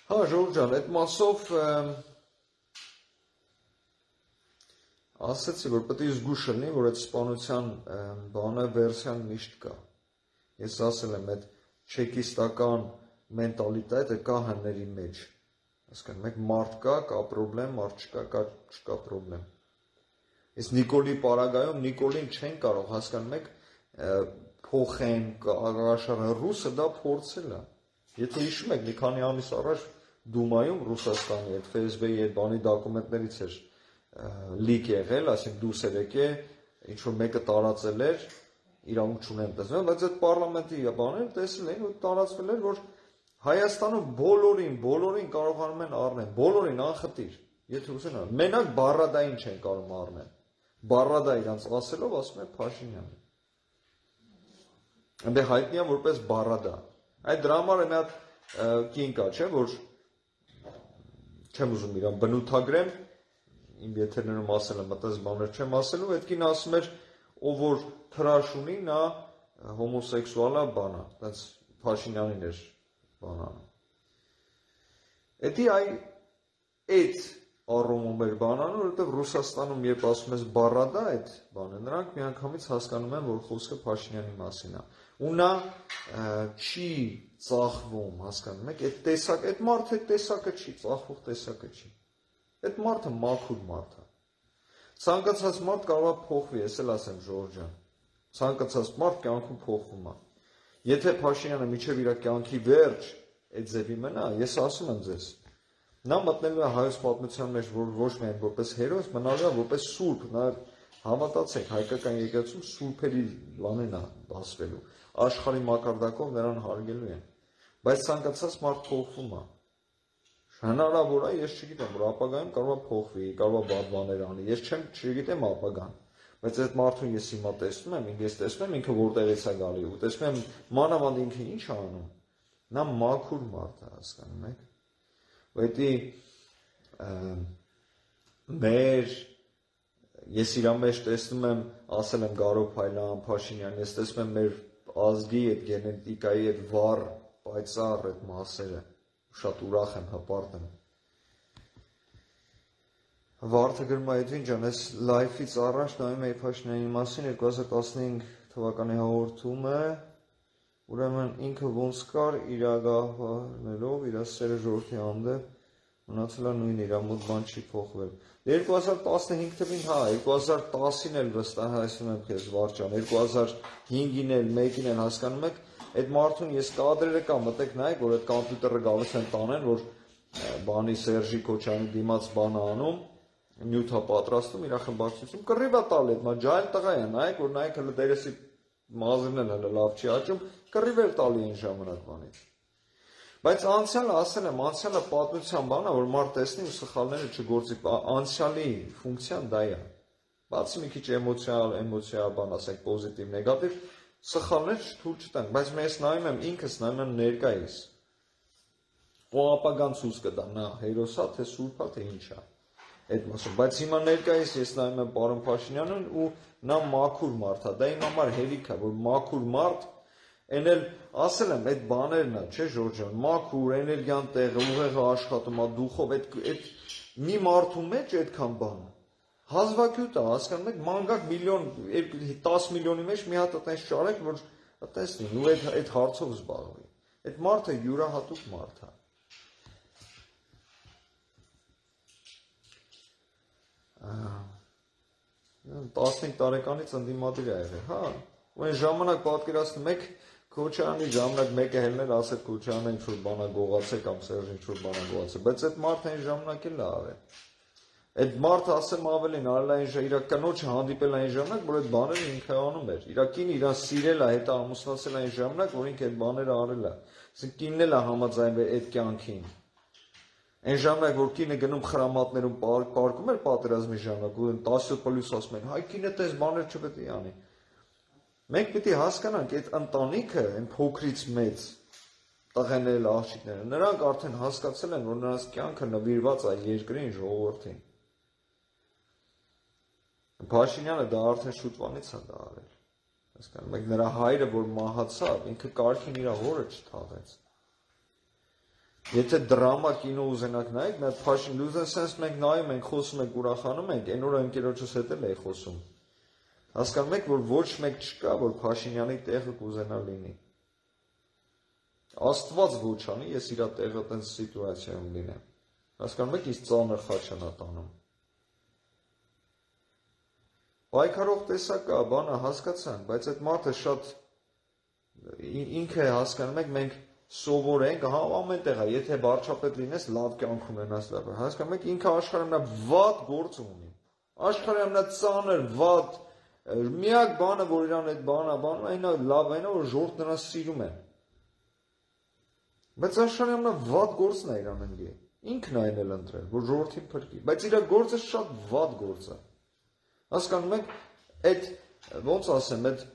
Հա, ժողովուրդ ջան, այդ մասով ասացի, որ պետք է զգուշ լինի, որ այդ սպանության բանը վերսիան միշտ կա։ Ես ասել եմ, այդ չեկիստական մենտալիտետը կա հների մեջ։ Հասկանում եք, մարդ կա, կա պրոբլեմ, մարդ չկա, կա չկա պրոբլեմ։ Իսկ Նիկոլի պարագայում Նիկոլին չեն կարող, հասկանում եք, փոխեն, աշխարհը ռուսը դա փորձել է։ Եթե հիշում եք, մի քանի ամիս առաջ Դումայում Ռուսաստանի այդ Ֆ S B-ի այդ բանի դոկումենտներից էր լիկ եղել, ասենք դուրս էր եկել, ինչ որ մեկը տարածել էր, իրավունք չունեն տեսնել, բայց այդ պարլամենտի բաները տեսել էին ու տարածվել էր, որ Հայաստանում բոլորին, բոլորին կարողանում են առնել, բոլորին անխտիր, եթե ուզեն առնել, մենակ Բառադային չեն կարող առնել, Բառադա իրանց ասելով ասում է Փաշինյանը, այնտեղ հայտնի է որպես Բառադա, այդ դրա համար մի հատ կին կա, չէ, որ չեմ ուզում իրան բնութագրեմ, իմ եթերներում ասել եմ, այդպես բաներ չեմ ասելու, այդ կին ասում էր, ով որ թրաշ ունի, նա հոմոսեքսուալ է բանա, այդպես Փաշինյանին էր բանանը։ Էդի այ այդ առումում էր բանանը, որովհետև Ռուսաստանում երբ ասում ես Բառադա այդ բանը, նրանք միանգամից հասկանում են, որ խոսքը Փաշինյանի մասին է։ Ու նա չի ծախվում, հասկանում եք, այդ տեսակ, այդ մարդը այդ տեսակը չի, ծախվող տեսակը չի։ Այդ մարդը մաքուր մարդ է։ Ցանկացած մարդ կարող է փոխվի, ես էլ ասեմ Ժորժ ջան։ Ցանկացած մարդ կյանքում փոխվում է։ Եթե Փաշինյանը միջև իր կյանքի վերջ այդ ձևի մնա, ես ասում եմ ձեզ, նա մտնելու է հայոց պատմության մեջ ոչ միայն որպես հերոս, մնալու է որպես սուրբ, նա հավատացեք, հայկական եկեղեցում սուրբերի բանն է դասվելու, աշխարհի մակարդակով նրան հարգելու են, բայց ցանկացած մարդ փոխվում է։ Հնարավոր է, ես չգիտեմ, որ ապագայում կարող է փոխվի, կարող է բադ բաներ անի, ես չեմ չգիտեմ ապագան, բայց այդ մարդուն ես հիմա տեսնում եմ, ես տեսնում եմ ինքը որտեղից է գալի, ու տեսնում եմ մանավանդ ինքը ինչ է անում, նա մաքուր մարդ է, հասկանում եք, Ուետի մեր, ես իրա մեջ տեսնում եմ, ասել եմ Գարո Փայլյան, Փաշինյան, ես տեսնում եմ մեր ազգի այդ գենետիկայի այդ վառ, պայծառ այդ մասերը, շատ ուրախ եմ, հպարտ եմ։ Վարդը գրում է Էդվին ջան, ես լայֆից առաջ նայում էի Փաշինյանի մասին երկու հազար տասնհինգ թվականի հաղորդումը, ուրեմն ինքը ոնց կար իրագահվելով, իր սերը ժողովրդի հանդեպ, մնացել է նույնը, իր մոտ բան չի փոխվել։ երկու հազար տասնհինգ թվին, հա, երկու հազար տասին էլ վստահ հասնում եմ քեզ Վարդան, երկու հազար հինգին էլ, մեկին էլ հասկանում եք, այդ մարդուն ես կադրերը կա, մտեք նայեք, որ այդ կոմպյուտերը գալիս են տանեն, որ բանի Սերժի Քոչարյանի դիմաց բանը անում, նյութա պատրաստում, իր խմբակցությունում կռիվա տալի, մա ջայլ տղա է, նայեք, որ նայեք հələ դերեսի մազերն էլ հələ լավ չի աճում, կռիվ էլ տալի այն ժամանակվանից։ Բայց անցյալը ասել եմ, անցյալը պատմության բան է, որ մարդ տեսնի ու սխալները չգործի, անցյալի ֆունկցիան դա է։ Բացի մի քիչ էմոցիալ, էմոցիա բան ասենք պոզիտիվ, նեգատիվ, սխալներ թույլ չտանք, բայց ես նայում եմ ինքս նայում եմ ներկայիս։ Ու ապագան ցույց կտա, նա հերոսա, թե սուրբա, թե ինչա։ Այդ մասը, բայց հիմա ներկայիս ես նայում եմ պարոն Փաշինյանին ու նա մաքուր մարդ է, դա իմ համար հերիք է, որ մաքուր մարդ, այն էլ ասել եմ, այդ բաներն է, չէ Ժորժ ջան, մաքուր, էներգիան տեղը, ուղեղը աշխատում է, դուխով, այդ մի մարդու մեջ այդքան բան, հազվագյուտ է, հասկանում եք, մանգակ միլիոն, տաս միլիոնի մեջ մի հատ այտենց ճարեք, որ տեսնի, ու այդ հարցով զբաղվի, այդ մարդը յուրահատուկ մարդ է։ տասնհինգ տարեկանից ընդդիմադիր է եղել, հա, ու այն ժամանակ պատկերացնում եք Քոչարյանի ժամանակ մեկը հելներ ասել Քոչարյանը ինչ-որ բանա գողացել կամ Սերժը ինչ-որ բանա գողացել, բայց այդ մարդը այն ժամանակ էլ է արել։ Այդ մարդը ասեմ ավելին արել այն իր կնոջը հանդիպել այն ժամանակ, որ այդ բաները ինքը անում էր։ Իր կինը իրան սիրել է, հետո ամուսնացել այն ժամանակ, որ ինքը այդ բաները արել է։ Այսինքն կինն էլ է համաձայնվել այդ կյանքին։ Այն ժամանակ, որ կինը գնում խրամատներում պարկում էր պատերազմի ժամանակ, ու տասը պլյուս ասում են, հայ կինը տես բաներ չպետք է անի։ Մենք պիտի հասկանանք, այդ ընտանիքը, այն փոքրից մեծ տղաները, աղջիկները, նրանք արդեն հասկացել են, որ նրանց կյանքը նվիրված է երկրին, ժողովրդին։ Փաշինյանը դա արդեն շուտվանից է դա արել։ Հասկանում եք, նրա հայրը, որ մահացավ, ինքը կարգին իր հորը չթաղեց։ Եթե դրամա կինո ուզենակ նայեք, մեր Փաշին լուզեն սենս մենք նայում ենք, խոսում ենք, ուրախանում ենք, այն օրը ընկերոջս հետ էլ էի խոսում։ Հասկանում եք, որ ոչ մեկ չկա, որ Փաշինյանի տեղը կուզենա լինի։ Աստված ոչ անի, ես իրա տեղը տենց սիտուացիայում լինեմ։ Հասկանում եք, ինձ ծանր խաչ են տանում։ Պայքարող տեսակ կա, բանը հասկացանք, բայց այդ մարդը շատ ինքը հասկանում եք, մենք սովորենք, հա, ամեն տեղ է, եթե վարչապետ լինես, լավ կյանք ունենաս, լավ։ Հասկանում եք, ինքը աշխարհում նա վատ գործ ունի։ Աշխարհում նա ծանր, վատ, միակ բանը, որ իրան այդ բանը, բանը, այնա լավ այնա, որ ժողովուրդը նրան սիրում է։ Բայց աշխարհում նա վատ գործն է իրան ընկել։ Ինքն է այն էլ ընտրել, որ ժողովրդին փրկի, բայց իր գործը շատ վատ գործ է։ Հասկանում եք, այդ ոնց ասեմ, այդ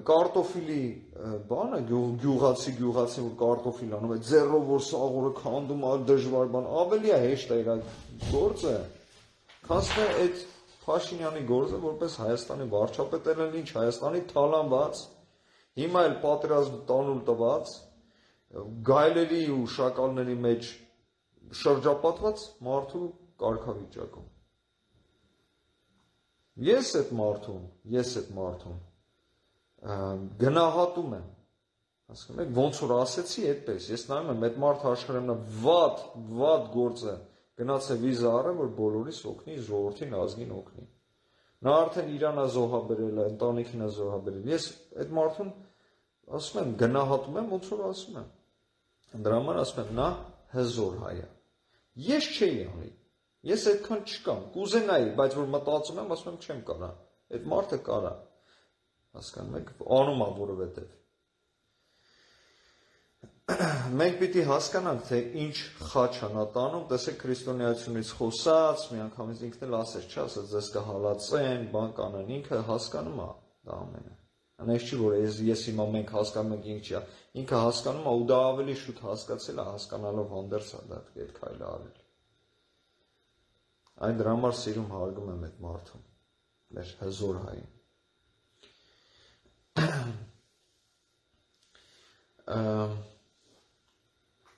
կարտոֆիլի բանը, գյուղացի գյուղացի որ կարտոֆիլ անում է, ձեռով որ սաղորը քանդում է, դժվար բան, ավելի է հեշտ է իր գործը, քան թե այդ Փաշինյանի գործը, որպես Հայաստանի վարչապետ էլ ինչ Հայաստանի թալանված, հիմա էլ պատերազմ տանուլ տված, գայլերի ու շակալների մեջ շրջապատված մարդու կարգավիճակում։ Ես այդ մարդուն, ես այդ մարդուն գնահատում եմ, հասկանում եք, ոնց որ ասեցի այդպես, ես նայում եմ, այդ մարդը աշխարհում վատ, վատ գործը գնաց է վիզա առել, որ բոլորիս օգնի, ժողովրդին, ազգին օգնի։ Նա արդեն իրան է զոհաբերել, ընտանիքին է զոհաբերել։ Ես այդ մարդուն ասում եմ, գնահատում եմ, ոնց որ ասում եմ։ Դրա համար ասում եմ, նա հզոր հայ է։ Ես չէի անի։ Ես այդքան չկամ, կուզենայի, բայց որ մտածում եմ, ասում եմ, չեմ կարա։ Այդ մարդը կարա։ Հասկանում եք, անում է որովհետև։ Մենք պիտի հասկանանք, թե ինչ խաչ է նա տանում, տեսեք քրիստոնեությունից խոսած, մի անգամից ինքն էլ ասեց, չէ, ասեց, ձեզ կհալածեն, բան կանեն, ինքը հասկանում է դա ամենը։ Անես չի, որ ես, ես հիմա մենք հասկանում ենք ինչ է, ինքը հասկանում է ու դա ավելի շուտ հասկացել է, հասկանալով հանդերձ է դա այդ քայլը արել։ Այն դրա համար սիրում հարգում եմ այդ մարդուն, մեր հզոր հային։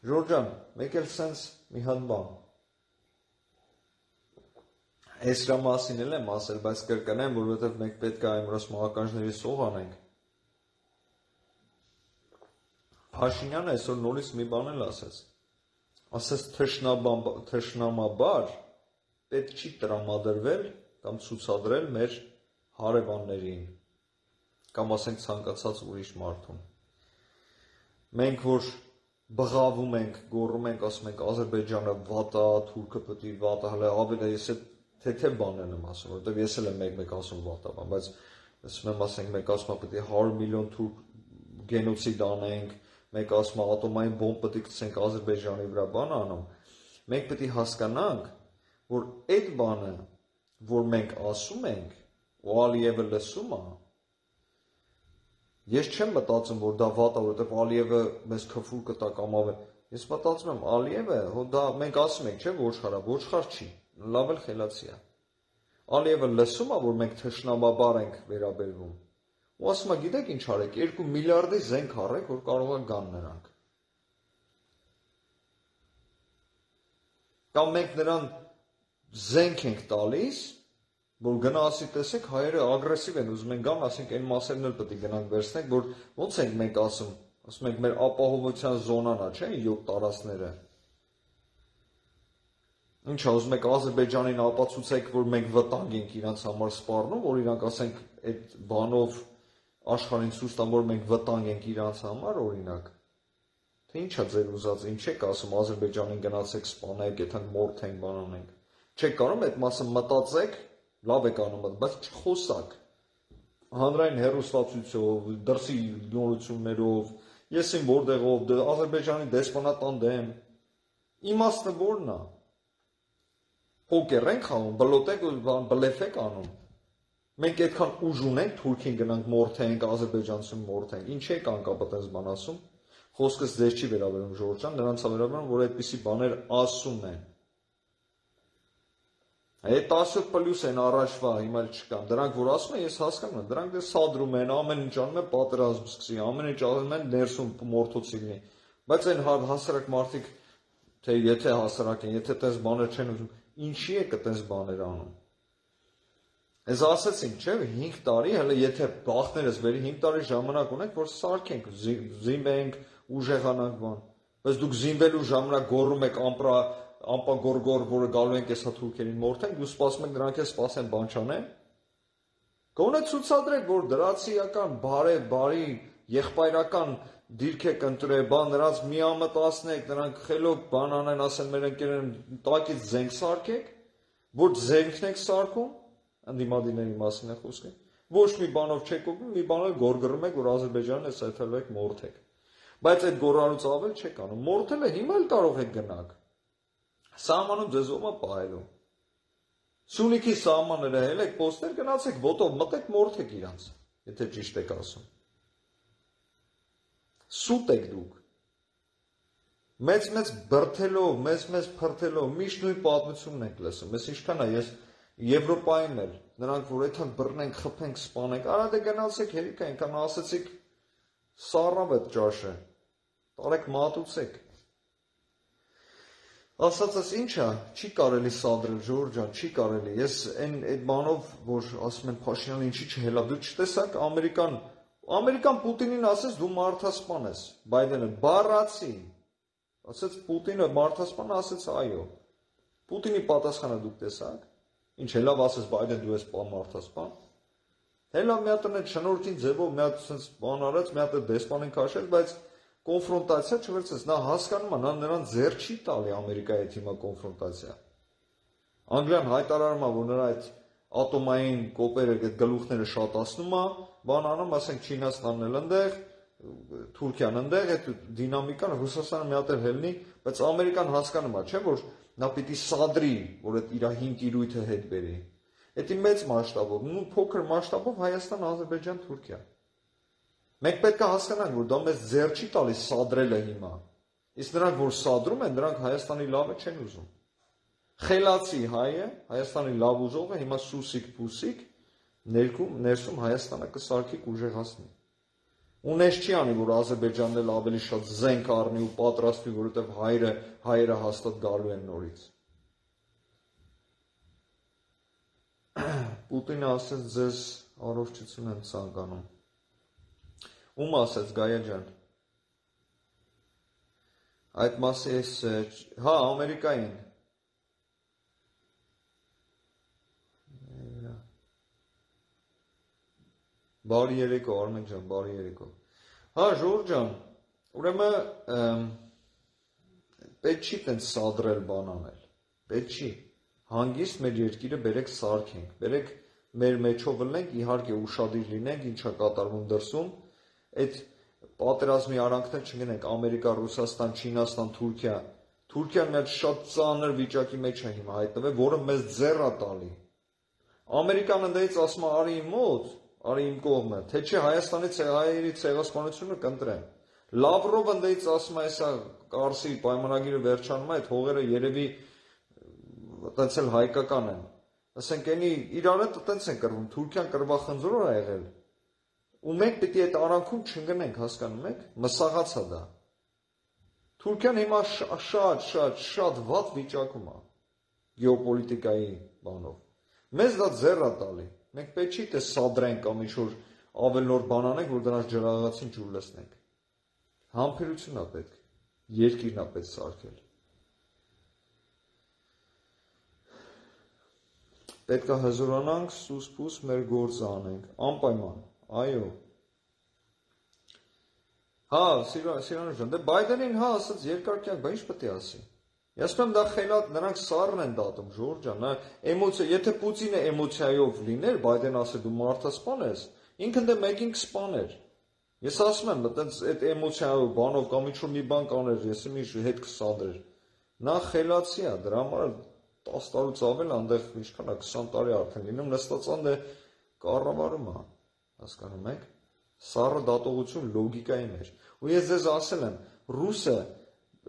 Ժորժան, մեկ էլ սենց մի հատ բան։ Էսրա մասին էլ եմ ասել, բայց կրկնեմ, որովհետև մենք պետք է այմրոս մահականջների սող անենք։ Փաշինյանը այսօր նորից մի բան էլ ասեց։ Ասեց թշնամաբար պետք չի տրամադրվել կամ ցուցադրել մեր հարևաններին կամ ասենք ցանկացած ուրիշ մարդուն։ Մենք որ բղավում ենք, գոռում ենք, ասում ենք Ադրբեջանը վատ է, Թուրքը պետք է վատ է, հələ ավելի ես այդ թեթև բաներն եմ ասում, որովհետև ես էլ եմ մեկ-մեկ ասում վատ է, բայց ասում եմ, ասենք մեկ ասում է պետք է հարյուր միլիոն թուրք գենոցիդ անենք, մեկ ասում է ատոմային բոմբ պետք է գցենք Ադրբեջանի վրա, բան անում։ Մենք պետք է հասկանանք, որ այդ բանը, որ մենք ասում ենք, ու Ալիևը լսում է, ես չեմ մտածում, որ դա վատ է, որովհետև Ալիևը մեզ քֆուր կտա կամ ավելի։ Ես մտածում եմ, Ալիևը, հո դա մենք ասում ենք, չէ, ոչխար է, ոչխար չի, լավ էլ խելացի է։ Ալիևը լսում է, որ մենք թշնամաբար ենք վերաբերվում։ Ու ասում է, գիտեք ինչ արեք, երկու միլիարդի զենք առեք, որ կարող է գան նրանք։ Կամ մենք նրան զենք ենք տալիս, որ գնա ասի տեսեք հայերը ագրեսիվ են ուզում են գան, ասենք այն մասերն էլ պետք է գնանք վերցնենք, որ ոնց ենք մենք ասում, ասում ենք մեր ապահովության զոնան է, չէ՞, յոթ տարածքները։ Ինչ է, ուզում եք Ադրբեջանին ապացուցեք, որ մենք վտանգ ենք իրանց համար սպառնում, որ իրանք ասենք այդ բանով աշխարհին ցույց տան, որ մենք վտանգ ենք իրանց համար, օրինակ։ Թե ի՞նչ է ձեր ուզած, ինչ եք ասում Ադրբեջանին գնացեք սպանեք, եթե մորթենք, բան անենք։ Չեք կարող այդ մասը մտածեք, լավ եք անում, բայց չխոսակ։ Հանրային հեռուստացույցով, դրսի նորություններով, ես իմ որտեղով, Ադրբեջանի դեսպանատան դեմ։ Իմաստը որն է։ Պոկեր ենք անում, բլոտեք ու բլեֆեք անում։ Մենք այդքան ուժ ունենք Թուրքին գնանք մորթենք, Ադրբեջանցին մորթենք։ Ինչ եք անկապ այդպես բան ասում։ Խոսքս ձեզ չի վերաբերում Ժորժ ջան, նրանց է վերաբերում, որ այդպիսի բաներ ասում են։ Այդ տասը պլյուս են առաջվա, հիմա չկան, դրանք որ ասում են, ես հասկանում եմ, դրանք դե սադրում են, ամեն ինչ անում են, պատերազմ սկսի, ամեն ինչ անում են, ներսում մորթոցի լինի, բայց այն հասարակ մարդիկ, թե եթե հասարակ են, եթե տես բաներ չեն ուզում, ինչի է կտես բաներ անում։ Ես ասեցինք, չէ, հինգ տարի, հələ եթե բախներս վերի հինգ տարի ժամանակ ունենք, որ սարքենք, զինվենք, ուժեղանանք բան, բայց դուք զինվելու ժամանակ գոռում եք ամպրա ամպագորգոր, որը գալու են կեսա թուրքերին մորթեն, դու սպասում եք նրանք էլ սպասեն բան չանեն։ Գոնե ցուցադրեք, որ դրացիական, բարե, բարի, եղբայրական դիրք եք ընտրել, բան նրանց միամտացնեք, նրանք խելոք բան անեն, ասեն մեր ընկերներն տակից զենք սարքեք, որ զենքն եք սարքում, ընդդիմադիրների մասին է խոսքը, ոչ մի բանով չեք օգնում, մի բանով գորգռում եք, որ Ադրբեջանն է սեթելով եք մորթեք։ Բայց այդ գոռալուց ավել չեք անում։ Մորթելը հիմա էլ կարող եք գնաք։ Սահմանում ձեզ ով է պահելու։ Սյունիքի սահմանները հելեք, պոստեր գնացեք, ոտով մտեք, մորթեք իրանց, եթե ճիշտ եք ասում։ Սուտ եք դուք։ Մեծ-մեծ բրթելով, մեծ-մեծ փրթելով, միշտ նույն պատմությունն եք լսում։ Ես ինչքան է, ես Եվրոպայում էլ, նրանք որ այդքան բռնենք, խփենք, սպանենք, արա դե գնացեք հերիք այնքան ասեցիք սառավ այդ ճաշը։ Տարեք մատուցեք։ Ասածս ինչա, չի կարելի սադրել, Ժորժ ջան, չի կարելի։ Ես այն այդ բանով, որ ասում են Փաշինյանը ինչի չհելա, դու չտեսաք Ամերիկան, Ամերիկան Պուտինին ասեց դու մարդասպան ես, Բայդենը բառացի։ Ասեց Պուտինը մարդասպան, ասեց այո։ Պուտինի պատասխանը դուք տեսաք։ Ինչ հելավ ասեց Բայդեն դու ես մարդասպան։ Հելա մի հատ այդ շնորհքին ձևով մի հատ sense բան արած, մի հատ դեսպանին քաշել, բայց կոնֆրոնտացիա չվերցեց, նա հասկանում է, նա նրան ձեռ չի տալի Ամերիկայի հետ հիմա կոնֆրոնտացիա։ Անգլիան հայտարարում է, որ նրա այդ ատոմային կոպերը, այդ գլուխները շատացնում է, բան անում, ասենք Չինաստանն էլ ընդեղ, Թուրքիան ընդեղ, այդ դինամիկան Ռուսաստանը մի հատ էլ հելնի, բայց Ամերիկան հասկանում է, չէ՞ որ նա պիտի սադրի, որ այդ իր հինգ իրույթը հետ բերի։ Դա մեծ մասշտաբով, ու փոքր մասշտաբով Հայաստան, Ադրբեջան, Թուրքիա։ Մենք պետք է հասկանանք, որ դա մեզ ձեռ չի տալիս սադրելը հիմա։ Իսկ նրանք, որ սադրում են, նրանք Հայաստանի լավը չեն ուզում։ Խելացի հայը, Հայաստանի լավ ուզողը հիմա սուսիկ-պուսիկ ներքում, ներսում Հայաստանը կսարքի կուժեղացնի։ Ունես չի անի, որ Ադրբեջանն էլ ավելի շատ զենք առնի ու պատրաստվի, որովհետև հայերը, հայերը հաստատ գալու են նորից։ Պուտինը ասեց ձեզ առողջություն եմ ցանկանում։ Ում ասեց Գայա ջան։ Այդ մասի էս, հա, Ամերիկային։ Բարի երեկո, Արմեն ջան, բարի երեկո։ Հա, Ժորժ ջան, ուրեմն պետք չի տենց սադրել բան անել։ Պետք չի։ Հանգիստ մեր երկիրը բերեք սարքենք, բերեք մեր մեջով լենք, իհարկե ուշադիր լինենք, ինչա կատարվում դրսում, այդ պատերազմի արանքներ չգնենք Ամերիկա, Ռուսաստան, Չինաստան, Թուրքիա։ Թուրքիան մի հատ շատ ծանր վիճակի մեջ է հիմա հայտնվել, որը մեզ ձեռ է տալի։ Ամերիկան ընդդեմ ասում է արի իմ մոտ, արի իմ կողմը, թե չէ Հայաստանի հայերի ցեղասպանությունը կընտրեմ։ Լավրովը ընդդեմ ասում է, այսա Կարսի պայմանագիրը վերջանում է, այդ հողերը երևի տենց էլ հայկական են։ Ասենք էնի իրար հետ տենց են կրվում, Թուրքիան կրվախնձոր է եղել։ Ու մենք պիտի այդ արանքում չընկնենք, հասկանում եք, մսաղացա դա։ Թուրքիան հիմա շատ, շատ, շատ վատ վիճակում է գեոպոլիտիկայի բանով։ Մեզ դա ձեռ է տալի։ Մենք պետք չի թե սադրենք կամ ինչ-որ ավելնոր բան անենք, որ դրանց ջրաղացին ջուր լցնենք։ Համբերություն է պետք, երկիրն է պետք սարքել։ Պետք է հզորանանք, սուս-փուս մեր գործը անենք, անպայման, այո։ Հա, Սիրան ջան, դե Բայդենին հա ասած երկարքյան, բա ինչ պետք է ասի։ Ես ասում եմ դա խելատ, նրանք սառն են դատում, Ժորժ ջան, նա էմոցիա, եթե Պուտինը էմոցիայով լիներ, Բայդեն ասել դու մարդասպան ես, ինքն դե մեկին կսպաներ։ Ես ասում եմ, այտենց այդ էմոցիայով բանով կամ ինչ-որ մի բան կաներ, ես մի հետ կսադրեր։ Նա խելացի է, դրա համար տասը տարուց ավել այնտեղ ինչքան է քսան տարի արդեն լինում նստածան դե կառավարում է, հասկանում եք։ Սառը դատողություն լոգիկայի մեջ։ Ու ես ձեզ ասել եմ, ռուսը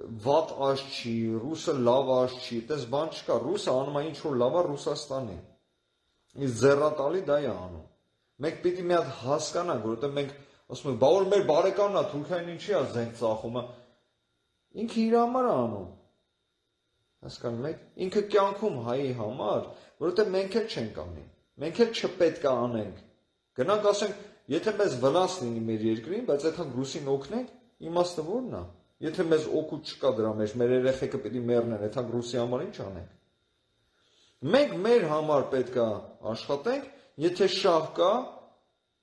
վատ աշ չի, ռուսը լավ աշ չի, այդպես բան չկա, ռուսը անում է ինչ-որ լավ է Ռուսաստանի։ Իսկ ձեռատալի դա է անում։ Մենք պիտի մի հատ հասկանանք, որովհետև մենք ասում ենք, բա որ մեր բարեկամն է, Թուրքիան ինչի է զենք ծախում է։ Ինքը իր համար է անում։ Հասկանում եք, ինքը կյանքում հայի համար, որովհետև մենք էլ չենք անի, մենք էլ չպետք է անենք։ Գնանք ասենք, եթե մեզ վնաս լինի մեր երկրին, բայց այդքան ռուսին օգնենք, իմաստը ո՞րն է։ Եթե մեզ օգուտ չկա դրա մեջ, մեր երեխեքը պիտի մեռնեն, այդ Ռուսի համար ինչ անենք։ Մենք մեր համար պետք է աշխատենք, եթե շահ կա,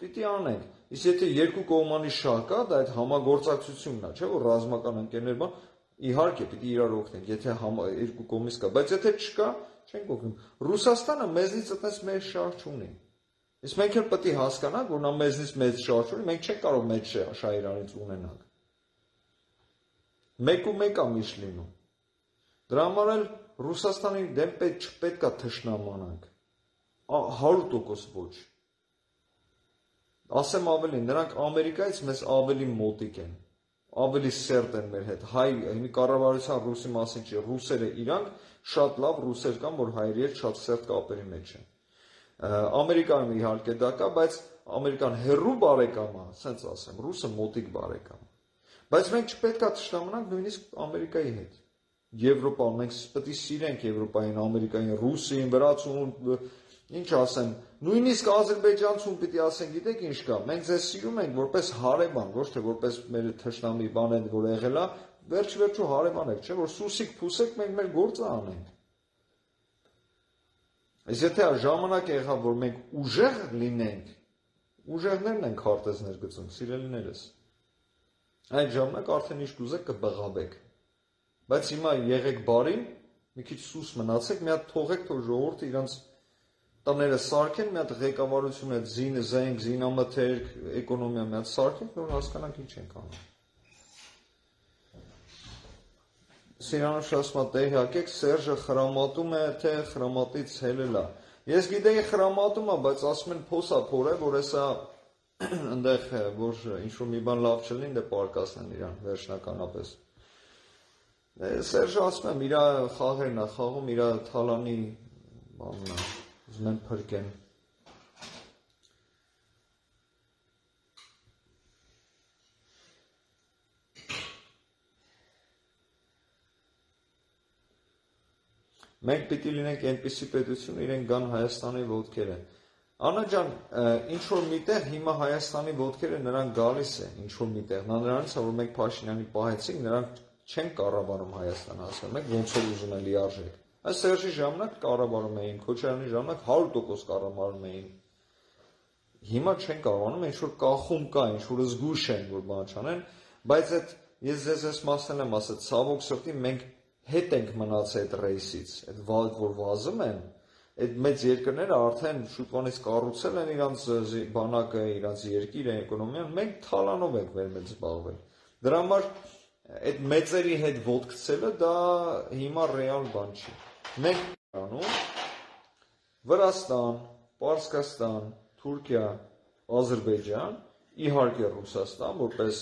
պիտի անենք։ Իսկ եթե երկու կողմանի շահ կա, դա այդ համագործակցությունն է, չէ՞ որ ռազմական ընկերներ բան, իհարկե պիտի իրար օգնենք, եթե երկու կողմից կա, բայց եթե չկա, չենք օգնում։ Ռուսաստանը մեզնից այդպես մեր շահ չունի։ Իսկ մենք էլ պետք է հասկանանք, որ նա մեզնից մեծ շահ չունի, մենք չենք կարող մեծ շահ իրանից ունենանք։ Մեկ ու մեկ է միշտ լինում։ Դրա համար էլ Ռուսաստանի դեմ չպետք է թշնամանանք։ հարյուր տոկոս ոչ։ Ասեմ ավելի, նրանք Ամերիկայից մեզ ավելի մոտիկ են, ավելի սերտ են մեր հետ։ Հայ կառավարության ռուսի մասին չի, ռուսերը իրանք շատ լավ ռուսեր կան, որ հայերի հետ շատ սերտ կապերի մեջ են։ Ամերիկայում իհարկե դա կա, բայց Ամերիկան հեռու բարեկամ է, ասենց ասեմ, ռուսը մոտիկ բարեկամ է։ Բայց մենք չպետք է թշնամանանք նույնիսկ Ամերիկայի հետ։ Եվրոպան, մենք պետք է սիրենք Եվրոպային, Ամերիկային, Ռուսին, վրացուն, ինչ ասեմ, նույնիսկ ադրբեջանցուն պիտի ասեն, գիտեք ինչ կա, մենք ձեզ սիրում ենք որպես հարևան, ոչ թե որպես մեր թշնամի բան են, որ եղել է, վերջ վերջու հարևան եք, չէ՞ որ սուսիկ փուսեք, մենք մեր գործը անենք։ Այս եթե ժամանակ եղավ, որ մենք ուժեղ լինենք, ուժեղներն են քարտեզներ գծում, սիրելիներս։ Այդ ժամանակ արդեն ինչ կուզեք կբղավեք։ Բայց հիմա եղեք բարին, մի քիչ սուս մնացեք, մի հատ թողեք, թող ժողովուրդը իրանց տները սարքեն, մի հատ ղեկավարություն է զին, զենք, զինամթերք, էկոնոմիա մի հատ սարքենք, որ հասկանանք ինչ ենք անում։ Սիրանուշ ասում է, տեղյակեք, Սերժը խրամատում է, թե խրամատից հելել է։ Ես գիտեի խրամատում է, բայց ասում են փոսա փոր է, որ հեսա ընդեղ որ ինչ-որ մի բան լավ չլինի, դե պարկասնեն իրան վերջնականապես։ Սերժը ասում եմ, իրա խաղերն է խաղում, իրա թալանի բանն է, ուզում են փրկեն։ Մենք պիտի լինենք այնպիսի պետություն, իրենք գան Հայաստանի ոտքերը։ Անա ջան, ինչ-որ միտեղ հիմա Հայաստանի ոտքերը նրանք գալիս է, ինչ-որ միտեղ, նա նրանից է, որ մենք Փաշինյանի պահեցինք, նրանք չեն կառավարում Հայաստանը, ասում եք, ոնց որ ուզում են լիարժեք։ Այս Սերժի ժամանակ կառավարում էին, Քոչարյանի ժամանակ հարյուր տոկոս կառավարում էին։ Հիմա չեն կառավարում, ինչ-որ կախում կա, ինչ-որ զգուշ են, որ բան չանեն, բայց այդ ես ձեզ այս մասն եմ ասել, ցավոք սրտի մենք հետ ենք մնացել այդ ռեյսից, այդ վալդ, որ վազում են, այդ մեծ երկրները արդեն շուտվանից կառուցել են իրանց բանակը, իրանց երկիրը, էկոնոմիան, մենք թալանով ենք մեր մեծ զբաղվել։ Դրա համար այդ մեծերի հետ ոտքցելը դա հիմա ռեալ բան չի։ Մենք անում Վրաստան, Պարսկաստան, Թուրքիա, Ադրբեջան, իհարկե Ռուսաստան, որպես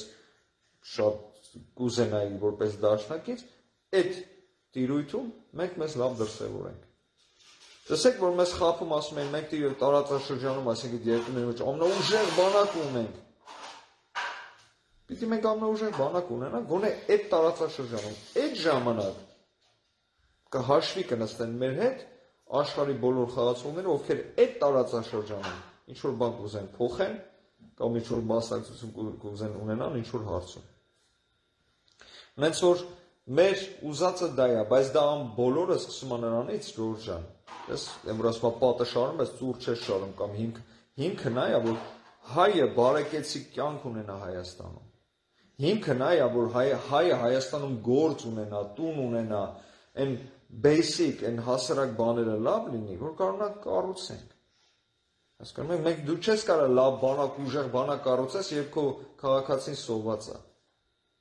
շատ կուզենայի, որպես դաշնակից, այդ տիրույթում մենք մեզ լավ դրսևորենք։ Տեսեք, որ մեզ խափում ասում են, մենք տարածաշրջանում, այսինքն երկրների մեջ ամենաուժեղ բանակ ունենք։ Պիտի մենք ամենաուժեղ բանակ ունենանք, գոնե այդ տարածաշրջանում, այդ ժամանակ կհաշվի կնստեն մեր հետ աշխարհի բոլոր խաղացողները, ովքեր այդ տարածաշրջանում ինչ-որ բան կուզեն փոխեն, կամ ինչ-որ մասնակցություն կուզեն ունենան ինչ-որ հարցում։ Նենց որ մեր ուզածը դա է, բայց դա ամ բոլորը սկսում է նրանից, Ժորժ ջան։ Ես եմ որ ասում պատը շարում, բայց ծուր չես շարում կամ հիմք հիմքը նա է, որ հայը բարեկեցիկ կյանք ունենա Հայաստանում։ Հիմքը նա է, որ հայը հայը Հայաստանում գործ ունենա, տուն ունենա, այն basic, այն հասարակ բաները լավ լինի, որ կարողանանք կառուցենք։ Հասկանում եք, մենք դու չես կարող լավ բանակ, ուժեղ բանակ կառուցես, երբ քո քաղաքացին սոված է։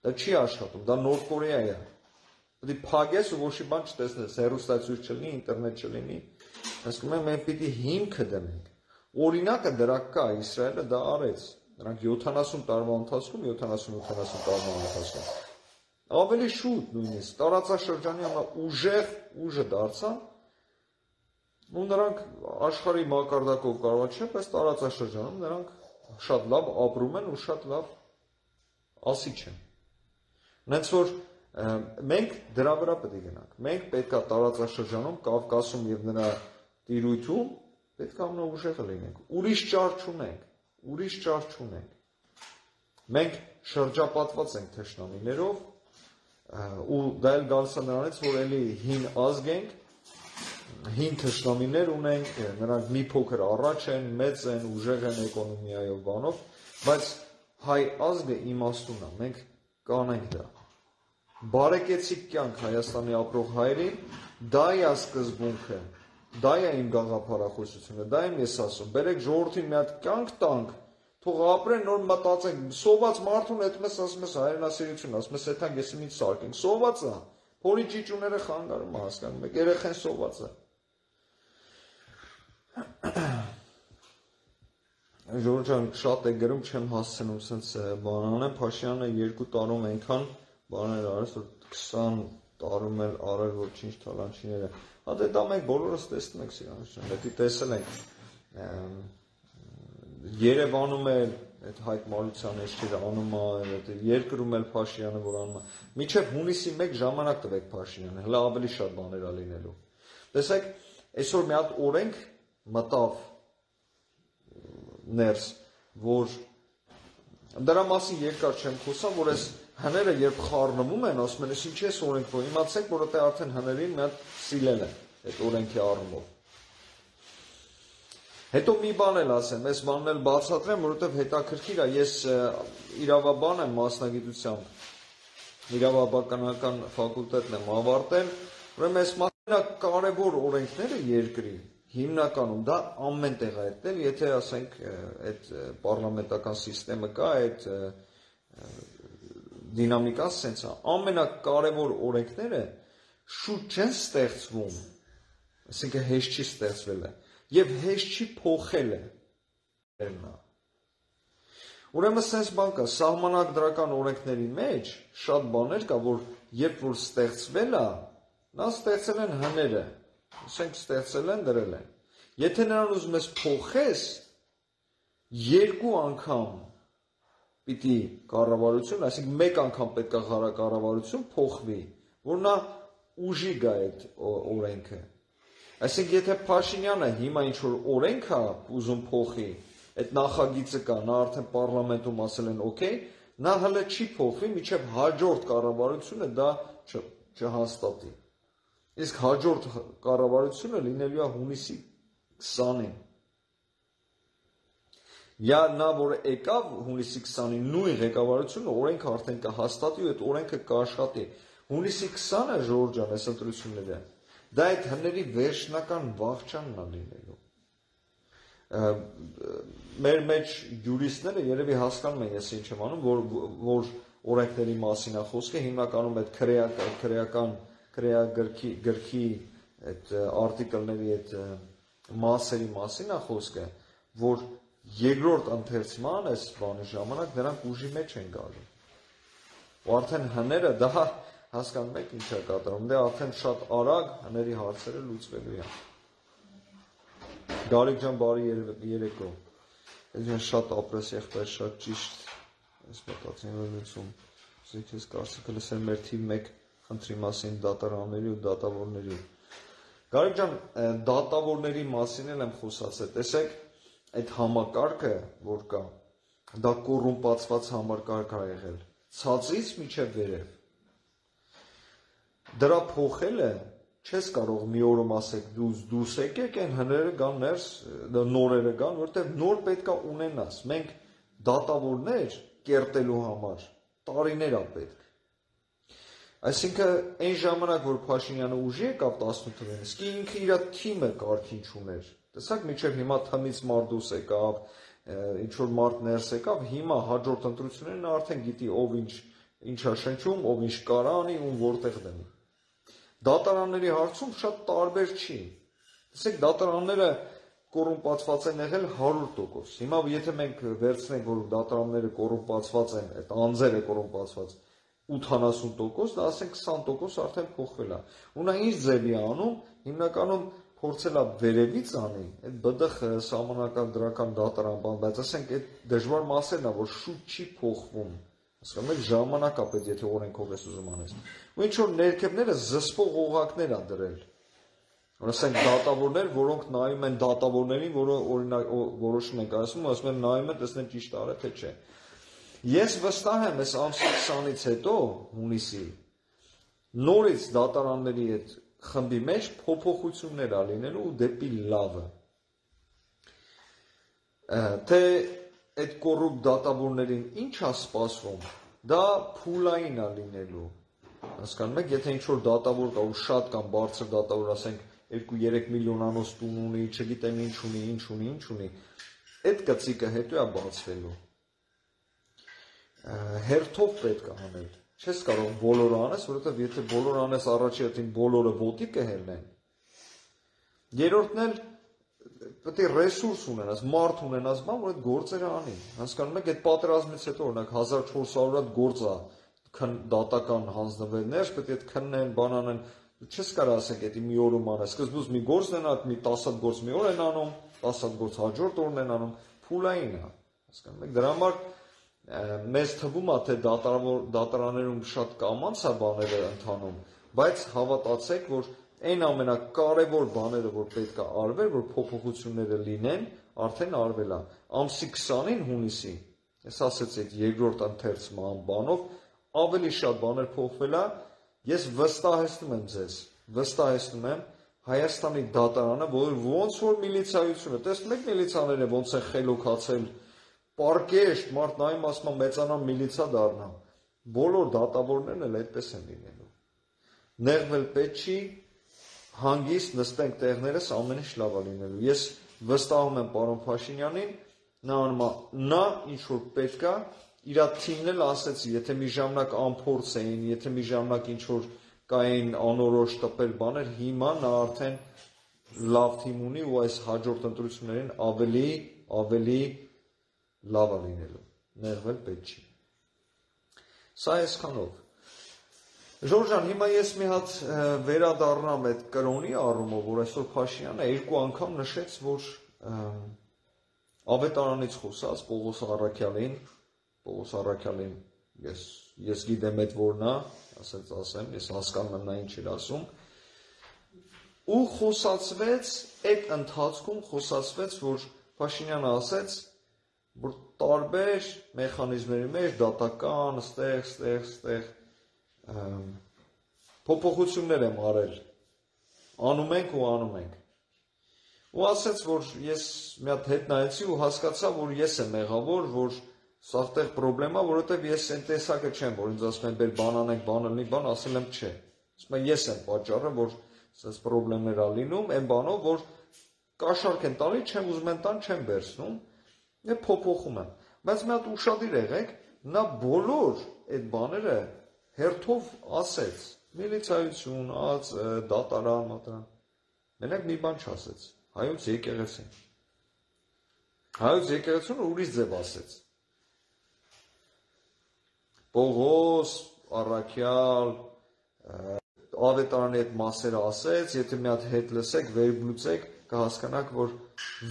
Դա չի աշխատում, դա Նոր Կորեա է։ Պետք է փակես ու ոչ մի բան չտեսնես, հեռուստացույց չլինի, ինտերնետ չլինի։ Հասկանում եք, մենք պիտի հիմքը դնենք։ Օրինակը դրա կա, Իսրայելը դա արեց։ Նրանք յոթանասուն տարվա ընթացքում, յոթանասուն-ութանասուն տարվա ընթացքում ավելի շուտ նույնիսկ տարածաշրջանի ամենաուժեղ ուժը դարձան, ու նրանք աշխարհի մակարդակով կարող չէ, բայց տարածաշրջանում նրանք շատ լավ ապրում են ու շատ լավ ասի չեն։ Նենց որ մենք դրա վրա պետք է գնանք։ Մենք պետք է տարածաշրջանում, Կովկասում եւ նրա տիրույթում պետք է ամենաուժեղը լինենք։ Ուրիշ ճար չունենք, ուրիշ ճար չունենք։ Մենք շրջապատված ենք թշնամիներով, ու դա էլ գալիս է նրանից, որ էլի հին ազգ ենք, հին թշնամիներ ունենք, նրանք մի փոքր առաջ են, մեծ են, ուժեղ են էկոնոմիայով բանով, բայց հայ ազգը իմաստուն է, մենք կանենք դա։ Բարեկեցիկ կյանք Հայաստանի ապրող հայերին, դա է սկզբունքը, դա է իմ գաղափարախոսությունը, դա եմ ես ասում, բերեք ժողովրդին մի հատ կյանք տանք, թող ապրեն, նոր մտածենք, սոված մարդուն հետում ես ասում ես հայրենասիրություն, ասում ես հետանք ես ինչ սարքենք, սոված է, փորի ճիճուները խանգարում է, հասկանում եք, երեխեն սոված է։ Ժողովուրդ ջան, շատ է գրում, չեմ հասցնում սենց բան անեմ, Փաշինյանը երկու տարում այնքան բաներ արեց, որ քսան տարում էլ արել, որ ինչ թալանչիները։ Հա դե դա մենք բոլորս տեսնում ենք սրանց, դեպի տեսել ենք։ Երևանում էլ այդ Հայկ Մարությանը էջերը անում է, երկրում էլ Փաշինյանը որ անում է։ Մինչև հունիսի մեկ ժամանակ տվեք Փաշինյանը, հələ ավելի շատ բաներ ա լինելու։ Տեսեք, այսօր մի հատ օրենք մտավ ներս, որ դրա մասին երկար չեմ խոսամ, որ այս հները երբ խառնվում են, ասում են, ես ինչ ես օրենք, որ իմացեք, որովհետև արդեն հներին մի հատ սիլել են այդ օրենքի առումով։ Հետո մի բան էլ ասեմ, այս բանն էլ բացատրեմ, որովհետև հետաքրքիր է, ես իրավաբան եմ մասնագիտությամբ, իրավաբանական ֆակուլտետն եմ ավարտել, ուրեմն այս ամենակարևոր օրենքները երկրի հիմնականում դա ամեն տեղ է այդտեղ, եթե ասենք այդ պարլամենտական սիստեմը կա, այդ դինամիկան սենց է, ամենակարևոր օրենքները շուտ չեն ստեղծվում, այսինքն հեշտ չի ստեղծվել է, և հեշտ չի փոխել է։ Ուրեմն սենց բան կա, սահմանադրական օրենքների մեջ շատ բաներ կա, որ երբ որ ստեղծվել է, նա ստեղծել են հները, ասենք ստեղծել են, դրել են։ Եթե նրան ուզում ես փոխես, երկու անգամ պիտի կառավարություն, այսինքն մեկ անգամ պետք է կառավարություն փոխվի, որ նա ուժի գա այդ օրենքը։ Այսինքն եթե Փաշինյանը հիմա ինչ որ օրենք է ուզում փոխի, այդ նախագիծը կա, նա արդեն պարլամենտում ասել են օքեյ, նա հələ չի փոխվի, մինչև հաջորդ կառավարությունը դա չհաստատի։ Իսկ հաջորդ կառավարությունը լինելու է հունիսի քսանին։ Յա նա որ եկավ հունիսի քսանին նույն ղեկավարությունը օրենքը արդեն կհաստատի ու այդ օրենքը կաշխատի։ Հունիսի քսանը ժողովուրդ ջան, այս ընտրությունները, դա այդ հների վերջնական վախճանն է լինելու։ Մեր մեջ յուրիստները երևի հասկանում են ես ինչ եմ անում, որ որ օրենքների մասին է խոսքը, հիմնականում այդ քրեական քրեագրքի գրքի այդ արտիկլների այդ մասերի մասին է խոսքը, որ երկրորդ ընթերցման այս բանի ժամանակ նրանք ուժի մեջ են գալու։ Ու արդեն հները դա հասկանում եք ինչ է կատարում, դե արդեն շատ արագ հների հարցերը լուծվելու են։ Գարիկ ջան, բարի երեկո։ Ես շատ ապրես եղբայր, շատ ճիշտ այս մտածին լուծում։ Ես ես կարծիքը լսել մեր թիվ մեկ խնդրի մասին դատարանների ու դատավորների։ Գարիկ ջան, դատավորների մասին էլ եմ խոսացել, տեսեք, այդ համակարգը, որ կա, դա կոռումպացված համակարգ է եղել, ցածից մինչև վերև։ Դրա փոխելը չես կարող մի օրում ասեք դուս դուս եկեք այն հները գան ներս, նորերը գան, որտեղ նոր պետքա ունենաս։ Մենք դատավորներ կերտելու համար տարիներ ա պետք։ Այսինքն այն ժամանակ, որ Փաշինյանը ուժի եկավ տասնութ թվականին, իսկ ինքը իր թիմը կարգին չուներ։ Տեսակ մինչև հիմա թմից մարդ դուրս եկավ, ինչ որ մարդ ներս եկավ, հիմա հաջորդ ընտրություններն արդեն գիտի ով ինչ ինչա շնչում, ով ինչ կարա անի, ում որտեղ դնի։ Դատարանների հարցում շատ տարբեր չի։ Տեսեք, դատարանները կոռումպացված են եղել հարյուր տոկոս։ Հիմա եթե մենք վերցնենք, որ դատարանները կոռումպացված են, այդ անձերը կոռումպացված ութանասուն տոկոս, դա ասենք քսան տոկոս արդեն փոխվել է։ Ու նա ինչ ձևի է անում, հիմնականում փորձել է վերևից անի, այդ ԲԴԽ սահմանական դրական դատարան բան, բայց ասենք այդ դժվար մասերն է, որ շուտ չի փոխվում։ Հասկանում եք, ժամանակ է պետք, եթե օրենքով ես ուզում անես։ Ու ինչ որ ներքևները զսպող օղակներ ա դրել։ Ասենք դատավորներ, որոնք նայում են դատավորներին, որը օրինակ որոշում են կայացնում, ասում են նայում են, տեսնեն ճիշտ արել թե չէ։ Ես վստահ եմ, այս ամսի քսանից հետո, հունիսի, նորից դատարանների այդ խմբի մեջ փոփոխություններ ա լինելու ու դեպի լավը։ Թե այդ կոռուպտ դատավորներին ինչ ա սպասվում, դա փուլային ա լինելու։ Հասկանում եք, եթե ինչ-որ դատավոր կա ու շատ կամ բարձր դատավոր, ասենք երկու երեք միլիոնանոց տուն ունի, չգիտեմ ինչ ունի, ինչ ունի, ինչ ունի, այդ կծիկը հետո ա բացվելու։ Հերթով պետք է անել։ Չես կարող բոլորը անես, որովհետև եթե բոլորը անես առաջի հերթին բոլորը ոտի կհելնեն։ Երրորդն էլ պետք է ռեսուրս ունենաս, մարդ ունենաս, բան, որ այդ գործերը անի։ Հասկանում եք, այդ պատերազմից հետո օրինակ հազար չորս հարյուր հատ գործ ա դատական հանձնվելներ, պետք է այդ քննեն, բան անեն, չես կարող ասենք, դա մի օրում անես, սկզբուց մի գործ են անում, մի տասը հատ գործ մի օր են անում, տասը հատ գործ հաջորդ օրն են անում, փուլային է, հասկանում եք, դրա համար մեզ թվում է, թե դատարաններում շատ կամանց է բաները ընթանում, բայց հավատացեք, որ այն ամենակարևոր բաները, որ պետք է արվեր, որ փոփոխությունները լինեն, արդեն արվել է։ Ամսի քսանին հունիսի, ես ասեցի այդ երկրորդ ընթերցման բանով, ավելի շատ բաներ փոխվել է, ես վստահեցնում եմ ձեզ, վստահեցնում եմ Հայաստանի դատարանը, որ ոնց որ միլիցիայությունը, տեսնում եք միլիցիաները ոնց են խելոքացել, պարկեշտ, մարդ նայում ասում է մեծանամ միլիցիա դառնա, բոլոր դատավորներն էլ այդպես են լինելու։ Նեղվել պետք չի, հանգիստ նստենք տեղներս ամեն ինչ լավ է լինելու։ Ես վստահում եմ պարոն Փաշինյանին, նա անում է, նա ինչ որ պետք է, իր թիմն էլ ասեցի, եթե մի ժամանակ անփորձ էին, եթե մի ժամանակ ինչ որ կային անորոշ տպել բաներ, հիմա նա արդեն լավ թիմ ունի ու այս հաջորդ ընտրություններին ավելի, ավելի լավ է լինելու, նեղվել պետք չի։ Սա այսքանով։ Ժորժ ջան, հիմա ես մի հատ վերադառնամ այդ կրոնի առումով, որ այսօր Փաշինյանը երկու անգամ նշեց, որ ավետարանից խոսած Պողոս Առաքյալին, Պողոս Առաքյալին ես ես գիտեմ այդ որն է, ասած ասեմ, ես հասկանում եմ նա ինչ էր ասում, ու խոսացվեց այդ ընթացքում խոսացվեց, որ Փաշինյանը ասեց, որ տարբեր մեխանիզմների մեջ դատական, ստեղ, ստեղ, ստեղ փոփոխություններ եմ արել, անում ենք ու անում ենք։ Ու ասեց, որ ես մի հատ հետ նայեցի ու հասկացա, որ ես եմ մեղավոր, որ սա տեղ պրոբլեմա, որովհետև ես այն տեսակը չեմ, որ ինձ ասում են, բեր բան անենք, բան ալնի, բան, ասել եմ չէ։ Ասում եմ, ես եմ պատճառը, որ սենց պրոբլեմներ ա լինում, այն բանով, որ կաշառք են տալի, չեմ ուզում են տան, չեմ վերցնում, եւ փոփոխում եմ։ Բայց մի հատ ուշադիր եղեք, նա բոլոր այդ բաները հերթով ասեց, միլիցիայություն, ած, դատարան, մատրան։ Մենակ մի բան չասեց, հայոց եկեղեցին։ Հայոց եկեղեցին ուրիշ ձև ասեց։ Պողոս, Առաքյալ, ավետարանի այդ մասերը ասեց, եթե մի հատ հետ լսեք, վերբլուծեք, կհասկանաք, որ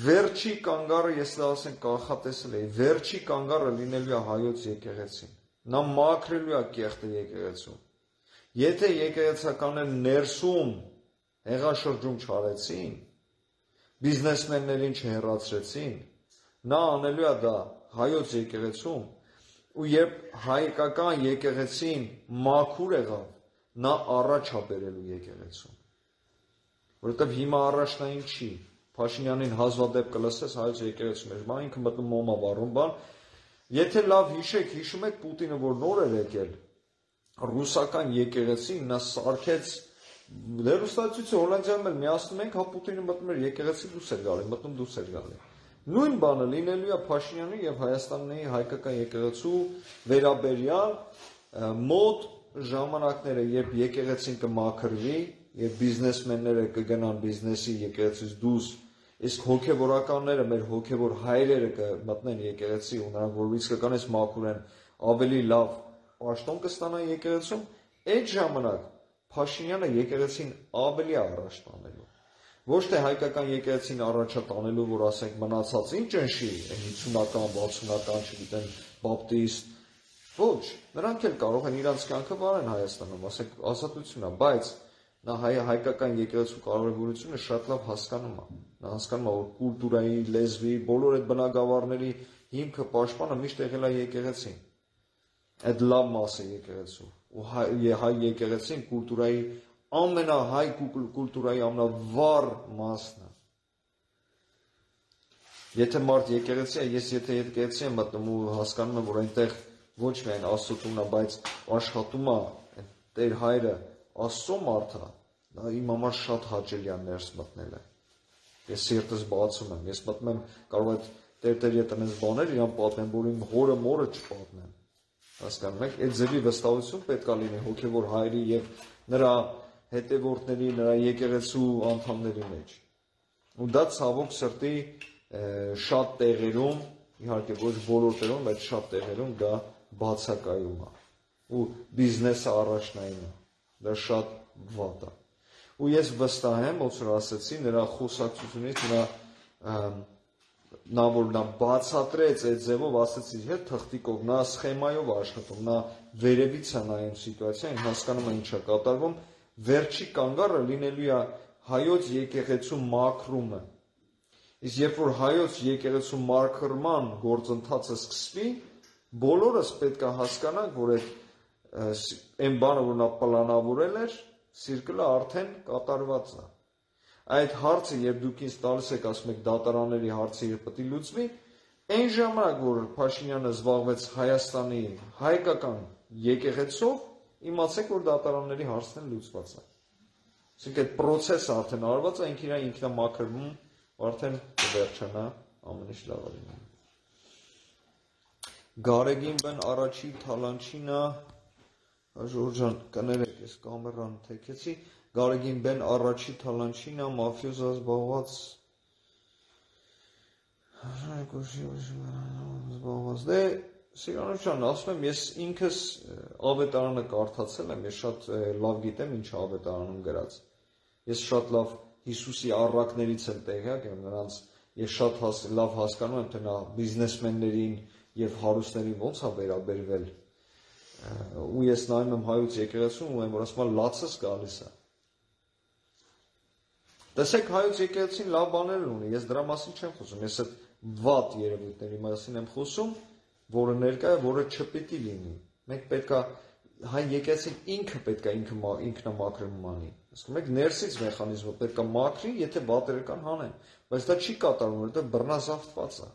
վերջի կանգառը, ես դա ասեմ կանխատեսել էի, վերջի կանգառը լինելու է հայոց եկեղեցին։ Նա մաքրելու է կեղտը եկեղեցում։ Եթե եկեղեցականները ներսում հեղաշրջում չարեցին, բիզնեսմեններին չհեռացրեցին, նա անելու է դա հայոց եկեղեցում, ու երբ հայկական եկեղեցին մաքուր եղավ, նա առաջ է բերելու եկեղեցում։ Որովհետև հիմա առաջնային չի, Փաշինյանին հազվադեպ կլսես հայոց եկեղեցում էր, բա ինքը մտնում մոմա վառում բան, եթե լավ հիշեք, հիշում եք Պուտինը, որ նոր էր եկել, ռուսական եկեղեցին նա սարքեց, հեռուստացույցը Հոլանդիայում էլ միացնում ենք, հա Պուտինը մտնում էր եկեղեցի դուրս էր գալի, մտնում դուրս էր գալի։ Նույն բանը լինելու է Փաշինյանի եւ Հայաստանի հայկական եկեղեցու վերաբերյալ մոտ ժամանակները, երբ եկեղեցին կմաքրվի, երբ բիզնեսմենները կգնան բիզնեսի եկեղեցից դուրս, իսկ հոգևորականները, մեր հոգևոր հայրերը կմտնեն եկեղեցի ու նրանք որ իսկականից մաքուր են, ավելի լավ պաշտոն կստանան եկեղեցում, այդ ժամանակ Փաշինյանը եկեղեցին ավելի առաջ տանելու։ Ոչ թե հայկական եկեղեցին առաջ տանելու, որ ասենք մնացած ինչ ընշի, հինգսունական, վաթսունական, չգիտեմ, բապտիստ, ոչ, նրանք էլ կարող են իրանց կյանքը վարեն Հայաստանում, ասենք ազատություն է, բայց նա հայ, հայկական եկեղեցու կարևորությունը շատ լավ հասկանում է։ Նա հասկանում է, որ կուլտուրայի, լեզվի, բոլոր այդ բնագավառների հիմքը պաշտպանը միշտ եղել է եկեղեցին։ այդ լավ մասը եկեղեցու։ Ու հայ, հայ եկեղեցին կուլտուրայի ամենահայ կուլտուրայի ամենավառ մասն է։ Եթե մարդ եկեղեցի է, ես եթե եկեղեցի եմ մտնում ու հասկանում եմ, որ այնտեղ ոչ միայն Աստծո տունն է, բայց աշխատում է Տեր Հայրը Աստծո մարդը, դա իմ համար շատ հաճելի է ներս մտնելը։ Ես սիրտս բացում եմ, ես մտնում եմ, կարող է Տեր-Տեր ետնես բաներ իրան պատմեմ, որ իմ հորը մորը չպատմեմ։ Հասկանում եք, այդ ձևի վստահություն պետք է լինի հոգևոր Հայրի եւ նրա հետևորդների, նրա եկեղեցու անդամների մեջ։ Ու դա ցավոք սրտի շատ տեղերում, իհարկե ոչ բոլոր տեղերում, բայց շատ տեղերում դա բացակայում է։ Ու բիզնեսը առաջնային է։ Դա շատ վատ է։ Ու ես վստահ եմ, ոնց որ ասեցի, նրա խոսակցությունից, նրա նա որ նա բացատրեց այդ ձևով, ասեցի, հետ թղթիկով, նա սխեմայով աշխատում, նա վերևից է նայում սիտուացիային, հասկանում է ինչ է կատարվում, վերջի կանգառը լինելու է հայոց եկեղեցու մաքրումը։ Իսկ երբ որ հայոց եկեղեցու մաքրման գործընթացը սկսվի, բոլորս պետք է հասկանանք, որ այդ այն բանը, որ նա պլանավորել էր, սիրկլը արդեն կատարված է։ Այդ հարցը, երբ դուք ինձ տալիս եք, ասում եք դատարանների հարցը երբ պետք է լուծվի, այն ժամանակ, որ Փաշինյանը զբաղվեց Հայաստանի հայկական եկեղեցով, իմացեք, որ դատարանների հարցն էլ լուծված է։ Այսինքն այդ process-ը արդեն արված է, ինքն իր ինքնամաքրվում արդեն վերջանա, ամեն ինչ լավ է լինում։ Գարեգին բեն առաջի թալանչինա, Ժորժան, կներեք, ես կամերան թեքեցի, Գարեգին բեն առաջի թալանչինա, մաֆիոզա զբաղված, զբաղված, դե, Սիրանուշան, ասում եմ, ես ինքս ավետարանը կարդացել եմ, ես շատ լավ գիտեմ, ինչ ավետարանում գրած, ես շատ լավ Հիսուսի առակներից եմ տեղյակ եմ, նրանց ես շատ հաս, լավ հասկանում եմ, թե նա բիզնեսմեններին և հարուստներին ոնց է վերաբերվել, ու ես նայում եմ հայոց եկեղեցուն ու եմ, որ ասում եմ, լացս գալիս է։ Տեսեք, հայոց եկեղեցին լավ բաներ ունի, ես դրա մասին չեմ խոսում, ես այդ վատ երևույթների մասին եմ խոսում, որը ներկա է, որը չպետք է լինի։ Մենք պետք է հայ եկեղեցին ինքը պետք է ինքնամաքրում անի։ Ասում եք, ներսից մեխանիզմը պետք է մաքրի, եթե վատերը կան հանեն, բայց դա չի կատարվում, որովհետև բռնազավթված է։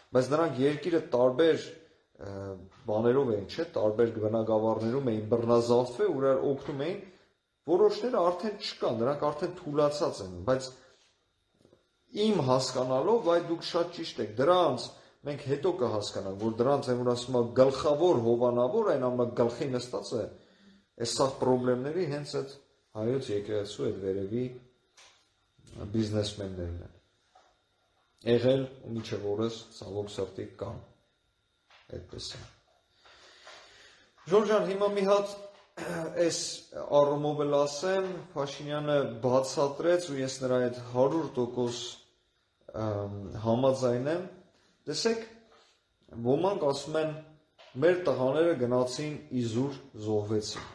Բայց նրանք երկիրը տարբեր բաներով էին, չէ, տարբեր բնագավառներում էին բռնազավթվել, ու իրար օգնում էին, որոշները արդեն չկան, նրանք արդեն թուլացած են, բայց իմ հասկանալով, այ դուք շատ ճիշտ եք, դրանց մենք հետո կհասկանանք, որ դրանց այն որ ասում է գլխավոր հովանավոր, այն ամենա գլխի նստած է, այս սաղ պրոբլեմների հենց այդ հայոց եկեղեցու այդ վերևի բիզնեսմեններն են։ Եղել ու մինչև օրս ցավոք սրտի կան։ Այդպես է։ Ժորժան, հիմա մի հատ այս առումով էլ ասեմ, Փաշինյանը բացատրեց ու ես նրա այդ հարյուր տոկոս համաձայն եմ։ Տեսեք, ոմանք ասում են, մեր տղաները գնացին իզուր զոհվեցին։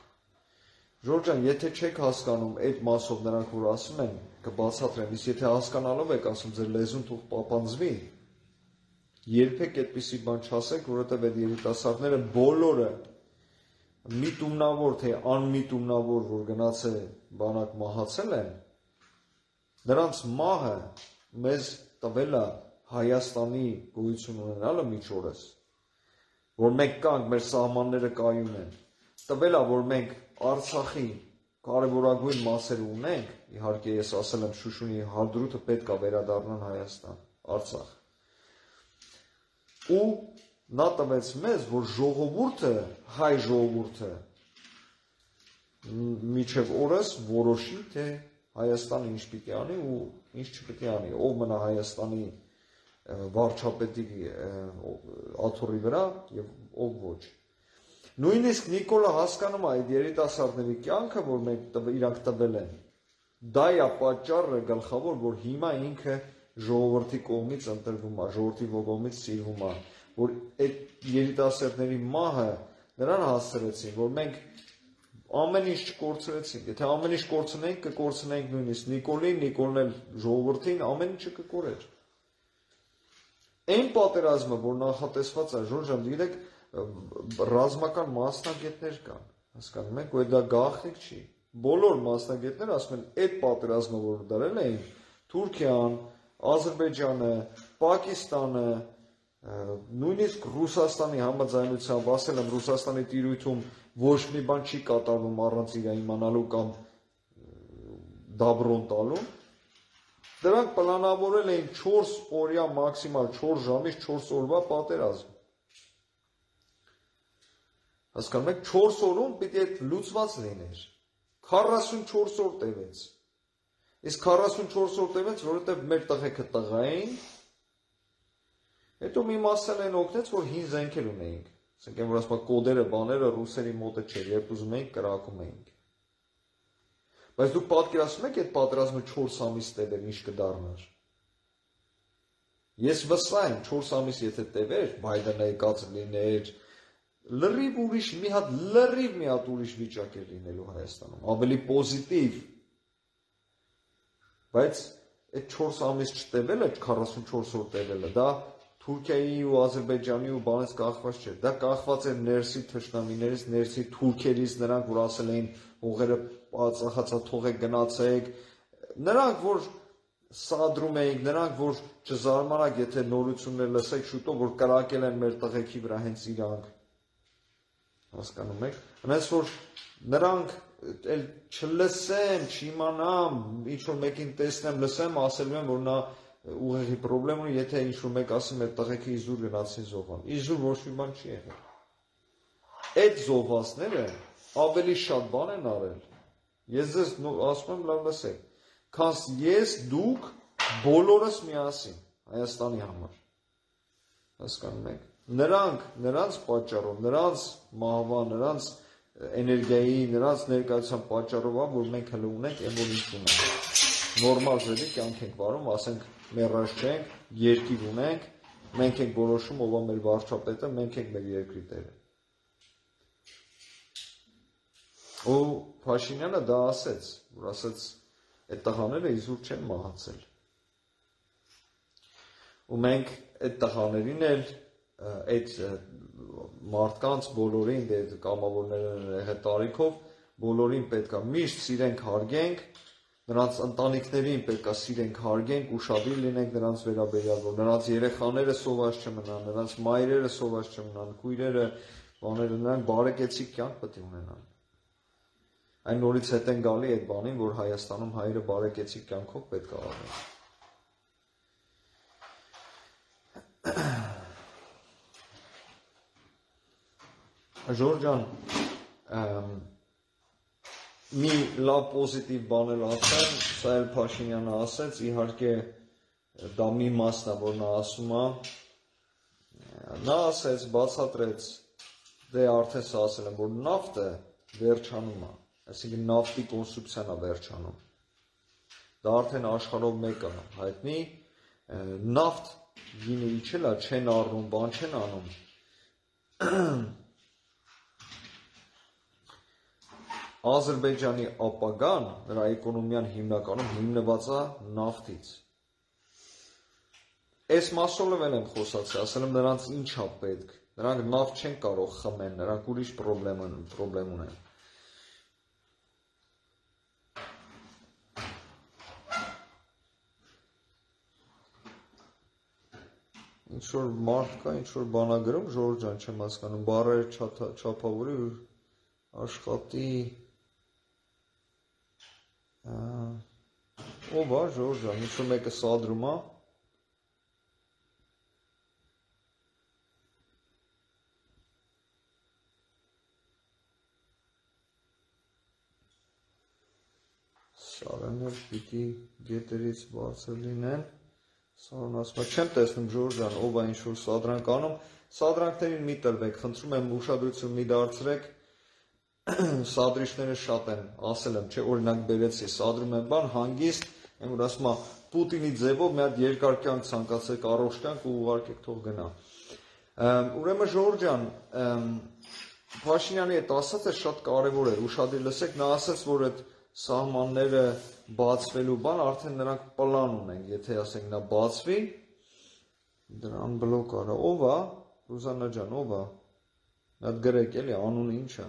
Ժորժան, եթե չեք հասկանում այդ մասով նրանք, որ ասում են, կբացատրեմ, իսկ եթե հասկանալով եք ասում, ձեր լեզուն թող պապանձվի, երբեք այդպիսի բան չասեք, որովհետև այդ երիտասարդները բոլորը միտումնավոր, թե անմիտումնավոր, որ գնացել բանակ մահացել են, նրանց մահը մեզ տվել է Հայաստանի գոյություն ունենալը միջորս, որ մենք կանք, մեր սահմանները կայուն են, տվել է, որ մենք Արցախի կարևորագույն մասերը ունենք, իհարկե ես ասել եմ Շուշունի հարդրութը պետք է վերադառնան Հայաստան, Արցախ։ Ու նա տվեց մեզ, որ ժողովուրդը, հայ ժողովուրդը միջև օրս որոշի, թե Հայաստանը ինչ պիտի անի ու ինչ չպիտի անի, ով մնա Հայաստանի վարչապետի աթոռի վրա և ով ոչ։ Նույնիսկ Նիկոլը հասկանում է այդ երիտասարդների կյանքը, որ մենք իրանք տվել են, դա է պատճառը գլխավոր, որ հիմա ինքը ժողովրդի կողմից ընտրվում է, ժողովրդի կողմից սիրվում է, որ այդ երիտասարդների մահը նրան հասցրեցին, որ մենք ամեն ինչ չկորցրեցինք, եթե ամեն ինչ կորցնենք, կկորցնենք նույնիսկ Նիկոլին, Նիկոլն էլ ժողովրդին, ամեն ինչը կկորեր։ Այն պատերազմը, որ նախատեսված է, Ժորժան, գիտեք, ռազմական մասնագետներ կան, հասկանում եք, որ դա գաղտնիք չի։ Բոլոր մասնագետները ասում են, այդ պատերազմը, որ դարել էին, Թուրքիան, Ադրբեջանը, Պակիստանը, նույնիսկ Ռուսաստանի համաձայնությամբ, ասել եմ Ռուսաստանի տիրույթում ոչ մի բան չի կատարվում առանց իր իմանալու կամ դաբրոն տալու, դրանք պլանավորել էին չորս օրյա մաքսիմալ չորս ժամից չորս օրվա պատերազմ։ Հասկանում եք, չորս օրում պիտի այդ լուծված լիներ։ քառասունչորս օր տևեց։ Իսկ քառասունչորս օր տևեց, որովհետև մեր տղեկը տղա էին, հետո մի մասն են օգնեց, որ հին զենքեր ունեինք։ Ասենք են, որ ասում կոդերը, բաները ռուսերի մոտը չէր, երբ ուզում էինք կրակում էինք։ Բայց դուք պատկերացնում եք այդ պատերազմը չորս ամիս տևեր, ինչ կդառնար։ Ես վստահ եմ, չորս ամիս եթե տևեր, Բայդենը եկած լիներ, լրիվ ուրիշ մի հատ լրիվ մի հատ ուրիշ վիճակ էր լինելու Հայաստանում, ավելի պոզիտիվ։ Բայց այդ չորս ամիս չտևելը, քառասունչորս օր տևելը, դա Թուրքիայի ու Ադրբեջանի ու բանից կախված չէ։ Դա կախված էր ներսի թշնամիներից, ներսի թուրքերից, նրանք որ ասել էին հողերը ծախացաթող եք գնացեք, նրանք որ սադրում էինք, նրանք որ չզարմանաք, եթե նորություններ լսեք շուտով, որ կրակել են մեր տղեկի վրա հենց իրանք։ Հասկանում եք։ Հենց որ նրանք էլ չլսեն, չիմանամ, ինչ որ մեկին տեսնեմ, լսեմ, ասելու եմ, որ նա ուղեղի պրոբլեմ ունի, եթե ինչ-որ մեկ ասի մեր տղեկը իզուր գնացին զոհան։ Իզուր ոչ մի բան չի եղել։ Այդ զոհվածները ավելի շատ բան են արել։ Ես ձեզ ասում եմ, լավ լսեք, քան ես, դուք, բոլորս միասին Հայաստանի համար։ Հասկանում եք։ Նրանք, նրանց պատճառով, նրանց մահվան, նրանց էներգիայի, նրանց ներկայության պատճառով, որ մենք հələ ունենք, այն որ ինչ ունենք։ Նորմալ ձևի կյանք ենք վարում, ասենք մեռած չենք, երկիր ունենք, մենք ենք որոշում ով է մեր վարչապետը, մենք ենք մեր երկրի տերը։ Ու Փաշինյանը դա ասեց, որ ասեց, այդ տղաները իզուր չեն մահացել։ Ու մենք այդ տղաներին էլ, այդ մարդկանց բոլորին, դե կամավորները տարիքով, բոլորին պետք է միշտ սիրենք, հարգենք, նրանց ընտանիքներին պետք է սիրենք, հարգենք, ուշադիր լինենք նրանց վերաբերյալ, որ նրանց երեխաները սոված չմնան, նրանց մայրերը սոված չմնան, քույրերը, բաները, նրանք բարեկեցիկ կյանք պետք է ունենան։ Այն նորից հետ են գալի այդ բանին, որ Հայաստանում հայերը բարեկեցիկ կյանքով պետք է ապրեն։ Ժորժ ջան, մի լավ պոզիտիվ բան էլ ասեմ, սա էլ Փաշինյանը ասեց, իհարկե դա մի մասն է, որ նա ասում է, նա ասեց, բացատրեց, դե արդեն սա ասել եմ, որ նավթը վերջանում է, այսինքն նավթի կոնսումպցիան է վերջանում, դա արդեն աշխարհով մեկ է հայտնի, նավթ գինը իջել է, չեն առնում, բան չեն անում, Ադրբեջանի ապագան, նրա էկոնոմիան հիմնականում հիմնված է նավթից։ Այս մասով էլ եմ խոսացել, ասել եմ նրանց ինչ է պետք, նրանք նավթ չեն կարող խմեն, նրանք ուրիշ պրոբլեմ ունեն։ Ինչ որ մարդ կա, ինչ որ բան է գրում, Ժորժ ջան, չեմ հասկանում, բառերը չափավորի ու աշխատի։ Ով է, Ժորժ ջան, ինչ որ մեկը սադրում է։ Սարաներ պիտի գետերից բարձր լինեն։ Սարան ասում է, չեմ տեսնում Ժորժ ջան, ով է ինչ որ սադրանք անում, սադրանքներին մի տրվեք, խնդրում եմ ուշադրություն մի դարձրեք, սադրիչները շատ են, ասել եմ, չէ, օրինակ բերեցի, սադրում եմ բան, հանգիստ, այն որ ասում է, Պուտինի ձևով մի հատ երկար կյանք ցանկացեք, առողջ կյանք ու ուղարկեք թող գնա։ Ուրեմն Ժորժ ջան, Փաշինյանի այդ ասածը շատ կարևոր էր, ուշադիր լսեք, նա ասաց, որ այդ սահմանները բացվելու բան, արդեն նրանք պլան ունեն, եթե ասենք նա բացվի, դրան բլոկ արա, ով է, Ռուզաննա ջան, ով է, Այդ գրեք էլի անունը ինչ է։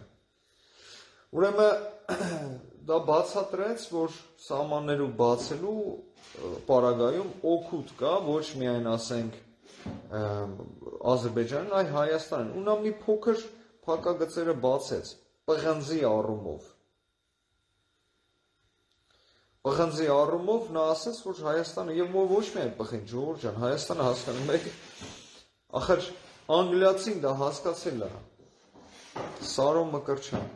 Ուրեմն դա բացատրեց, որ սահմաններու բացելու պարագայում օգուտ կա ոչ միայն ասենք Ադրբեջանին, այլ Հայաստանին։ Ու նա մի փոքր փակագծերը բացեց պղնձի առումով։ Պղնձի առումով նա ասաց, որ Հայաստանը եւ ոչ միայն պղինջ, Ժողովուրդ ջան, Հայաստանը հասկանում եք, ախր անգլիացին դա հասկացել է։ Սարո Մկրտչյան,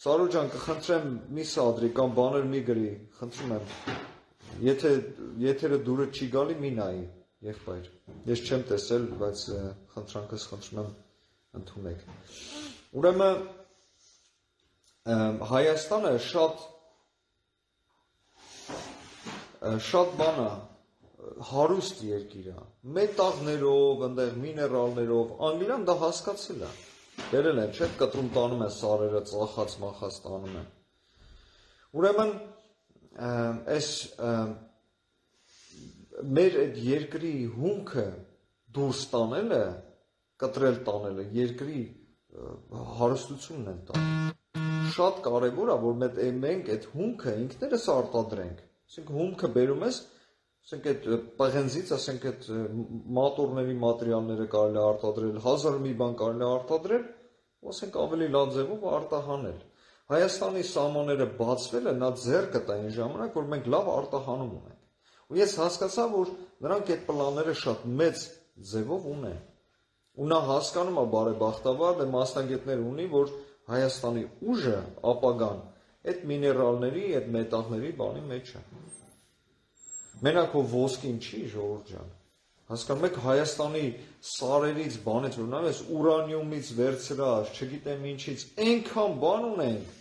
Սարո ջան, կխնդրեմ մի սադրի կամ բաներ մի գրի, խնդրում եմ։ Եթե եթերը դուրը չի գալի, մի նայի, եղբայր։ Ես չեմ տեսել, բայց խնդրանքս խնդրում եմ ընդունեք։ Ուրեմն Հայաստանը շատ շատ բան է, հարուստ երկիր է, մետաղներով, այնտեղ միներալներով, Անգլիան դա հասկացել է։ Բերել են, չէ՞, կտրում տանում են սարերը, ծախած մախած տանում են։ Ուրեմն այս մեր այդ երկրի հումքը դուրս տանելը, կտրել տանելը, երկրի հարստությունն են տանում։ Շատ կարևոր է, որ մենք այդ հումքը ինքներս արտադրենք։ Ասենք հումքը բերում ես, ասենք այդ պղնձից, ասենք այդ մատորների մատերիալները կարելի է արտադրել, հազար մի բան կարելի է արտադրել, ասենք ավելի լավ ձևով արտահանել։ Հայաստանի սահմանները բացվելը նա ձեռքը տա այն ժամանակ, որ մենք լավ արտահանում ունենք։ Ու ես հասկացա, որ նրանք այդ պլանները շատ մեծ ձևով ունեն։ Ու նա հասկանում է բարեբախտաբար, դե մասնագետներ ունի, որ Հայաստանի ուժը ապագան այդ միներալների, այդ մետաղների բանի մեջ է։ Մենակ ով ոսկին չի, Ժողովուրդ ջան։ Հասկանում եք, Հայաստանի սարերից, բանից, որ նայես ուրանիումից վերցրած, չգիտեմ ինչից, այնքան բան ունենք։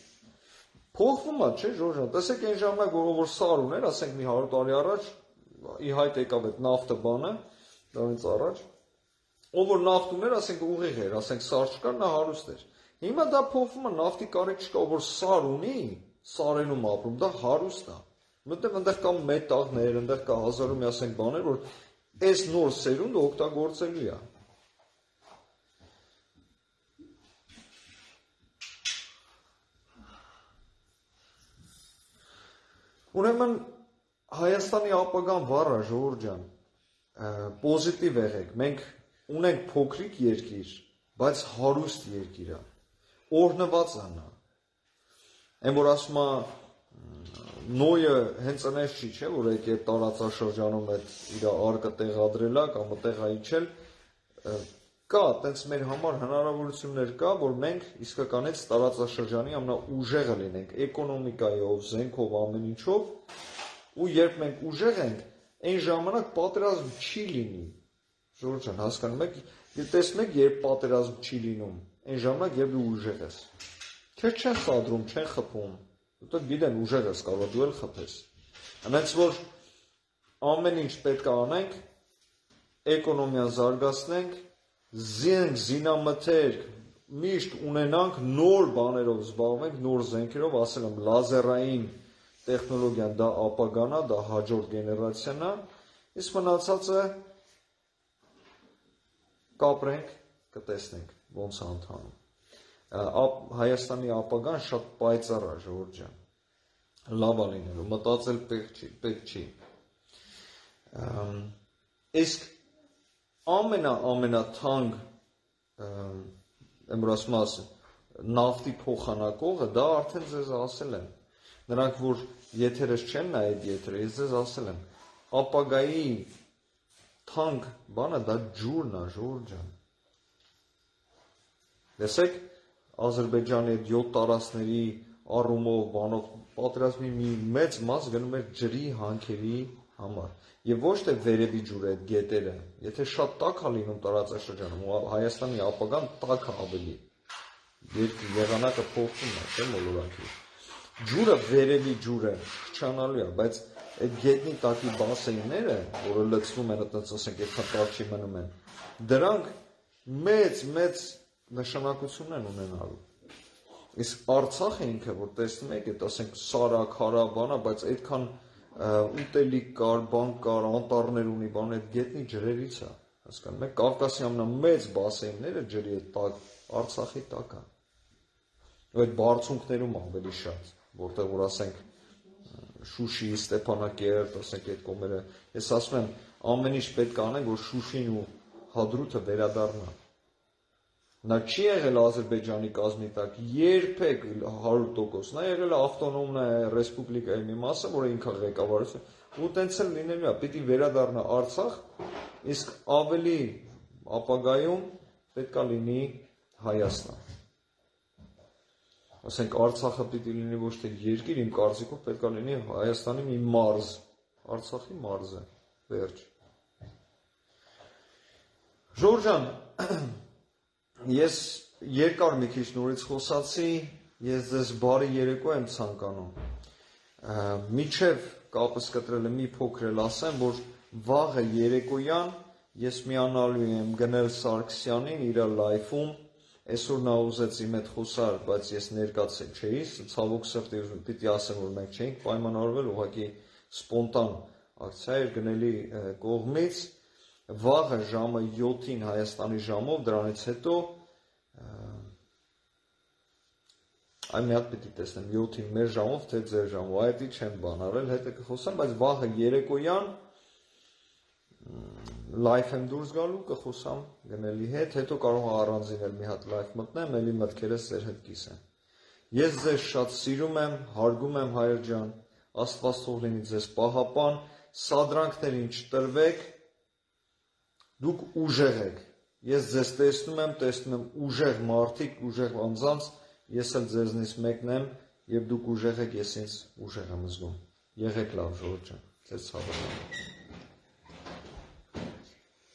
Փոխվում է, չէ՞, Ժողովուրդ ջան։ Տեսեք այն ժամանակ, որ սար ուներ, ասենք մի հարյուր տարի առաջ, ի հայտ եկավ այդ նավթը բանը, դրանից առաջ, ով որ նավթ ուներ, ասենք ուղիղ էր, ասենք սար չկար, նա հարուստ էր։ Հիմա դա փոխվում է, նավթի կարիք չկա, ով որ սար ունի, սարենում ապրում, դա հարուստ է։ Մտեղ այնտեղ կա մետաղներ, այնտեղ կա հազարու մի ասենք բաներ, որ այս նոր սերունդը օգտագործելու է։ Ուրեմն Հայաստանի ապագան վառ է, Ժողովուրդ ջան, պոզիտիվ եղեք, մենք ունենք փոքրիկ երկիր, բայց հարուստ երկիր է, օրհնված է նա։ Այն որ ասում է Նոյը հենց այնպես չի, չէ, որ եկե տարածաշրջանում այդ իր արկը տեղադրել է կամ տեղ այցել, կա, տենց մեր համար հնարավորություններ կա, որ մենք իսկականից տարածաշրջանի ամենաուժեղը լինենք, էկոնոմիկայով, զենքով, ամեն ինչով, ու երբ մենք ուժեղ ենք, այն ժամանակ պատերազմ չի լինի։ Ժողովուրդ ջան, հասկանում եք, տեսնում եք, երբ պատերազմ չի լինում, այն ժամանակ երբ դու ուժեղ ես։ Քեզ չեն սադրում, չեն խփում։ Դու գիտեն ուժեղ ես կարող դու էլ խփես։ Այնց որ ամեն ինչ պետք է անենք, էկոնոմիան զարգացնենք, զենք, զինամթերք միշտ ունենանք, նոր բաներով զբաղվենք, նոր զենքերով, ասել եմ, լազերային տեխնոլոգիան դա ապագան է, դա հաջորդ գեներացիան է, իսկ մնացածը կապրենք, կտեսնենք ոնց է ընթանում։ Հայաստանի ապագան շատ պայծառ է, Ժողովուրդ ջան, լավ է լինելու, մտածել պետք չի։ Իսկ ամենա ամենաթանկ եմ որ ասում ասեմ, նավթի փոխանակողը դա արդեն ձեզ ասել եմ։ Նրանք որ եթերս չեն նայել եթերը, ես ձեզ ասել եմ, ապագայի թանկ բանը դա ջուրն է, Ժողովուրդ ջան։ Տեսեք, Ադրբեջանի այդ յոթ տարածքների առումով, բանով պատերազմի մի մեծ մաս գնում էր ջրի հանքերի համար։ Եվ ոչ թե վերևի ջուրը այդ գետերը, եթե շատ տաք է լինում տարածաշրջանում, Հայաստանի ապագան տաք է ավելի։ Եղանակը փոխվում է, չէ՞ մոլորանքի։ Ջուրը վերևի ջուրը խչանալու է, բայց այդ գետնի տակի բասեյները, որը լցվում են, այդպես ասենք, այդքան տաք չի մնում են, դրանք մեծ մեծ նշանակություն են ունենալու։ Իսկ Արցախը ինքը, որ տեսնում եք, այդ ասենք սարա, քարա, բանա, բայց այդքան ուտելիք կար, բան կար, անտառներ ունի, բան այդ գետնի ջրերից է։ Հասկանում եք, Կովկասի ամենամեծ բասեինները ջրի հետ տակ, Արցախի տակ է։ Ու այդ բարձունքներում ավելի շատ, որտեղ որ ասենք Շուշի, Ստեփանակերտ, ասենք այդ կողմերը, ես ասում եմ, ամեն ինչ պետք է անենք, որ Շուշին ու Հադրութը վերադառնա։ Նա չի եղել Ադրբեջանի կազմի տակ երբեք հարյուր տոկոս, նա եղել է ավտոնոմնա ռեսպուբլիկայի մի մասը, որը ինքը ղեկավարություն, ու տենց էլ լինելու է, պիտի վերադառնա Արցախ, իսկ ավելի ապագայում պետք է լինի Հայաստան։ Ասենք Արցախը պիտի լինի ոչ թե երկիր, իմ կարծիքով պետք է լինի Հայաստանի մի մարզ, Արցախի մարզը, վերջ։ Ժորժ ջան, ես երկար մի քիչ նորից խոսացի, ես ձեզ բարի երեկո եմ ցանկանում։ Միջև կապս կտրելը մի փոքր էլ ասեմ, որ վաղը երեկոյան ես միանալու եմ Գնել Սարգսյանին իր լայվում, այսօր նա ուզեց իմ հետ խոսալ, բայց ես ներկացել չէի, ցավոք սրտի պիտի ասեմ, որ մենք չէինք պայմանավորվել, ուղղակի սպոնտան ակցիա էր Գնելի կողմից, վաղը ժամը յոթին Հայաստանի ժամով, դրանից հետո այ մի հատ պիտի տեսնեմ յոթին մեր ժամով, թե ձեր ժամով, այդի չեմ բան արել, հետը կխոսեմ, բայց վաղը երեկոյան լայվ եմ դուրս գալու, կխոսամ Գնելի հետ, հետո կարող եմ առանձին էլ մի հատ լայվ մտնեմ, էլի մտքերս ձեր հետ կիսեմ։ Ես ձեզ շատ սիրում եմ, հարգում եմ հայր ջան, Աստված թող լինի ձեզ պահապան, սադրանքներին չտրվեք, դուք ուժեղ եք։ Ես ձեզ տեսնում եմ, տեսնում եմ ուժեղ մարդիկ, ուժեղ անձանց, ես էլ ձեզնից մեկն եմ, եւ դուք ուժեղ եք, ես ինձ ուժեղ եմ զգում։ Եղեք լավ, Ժողովուրդ ջան, ձեզ ցավոք։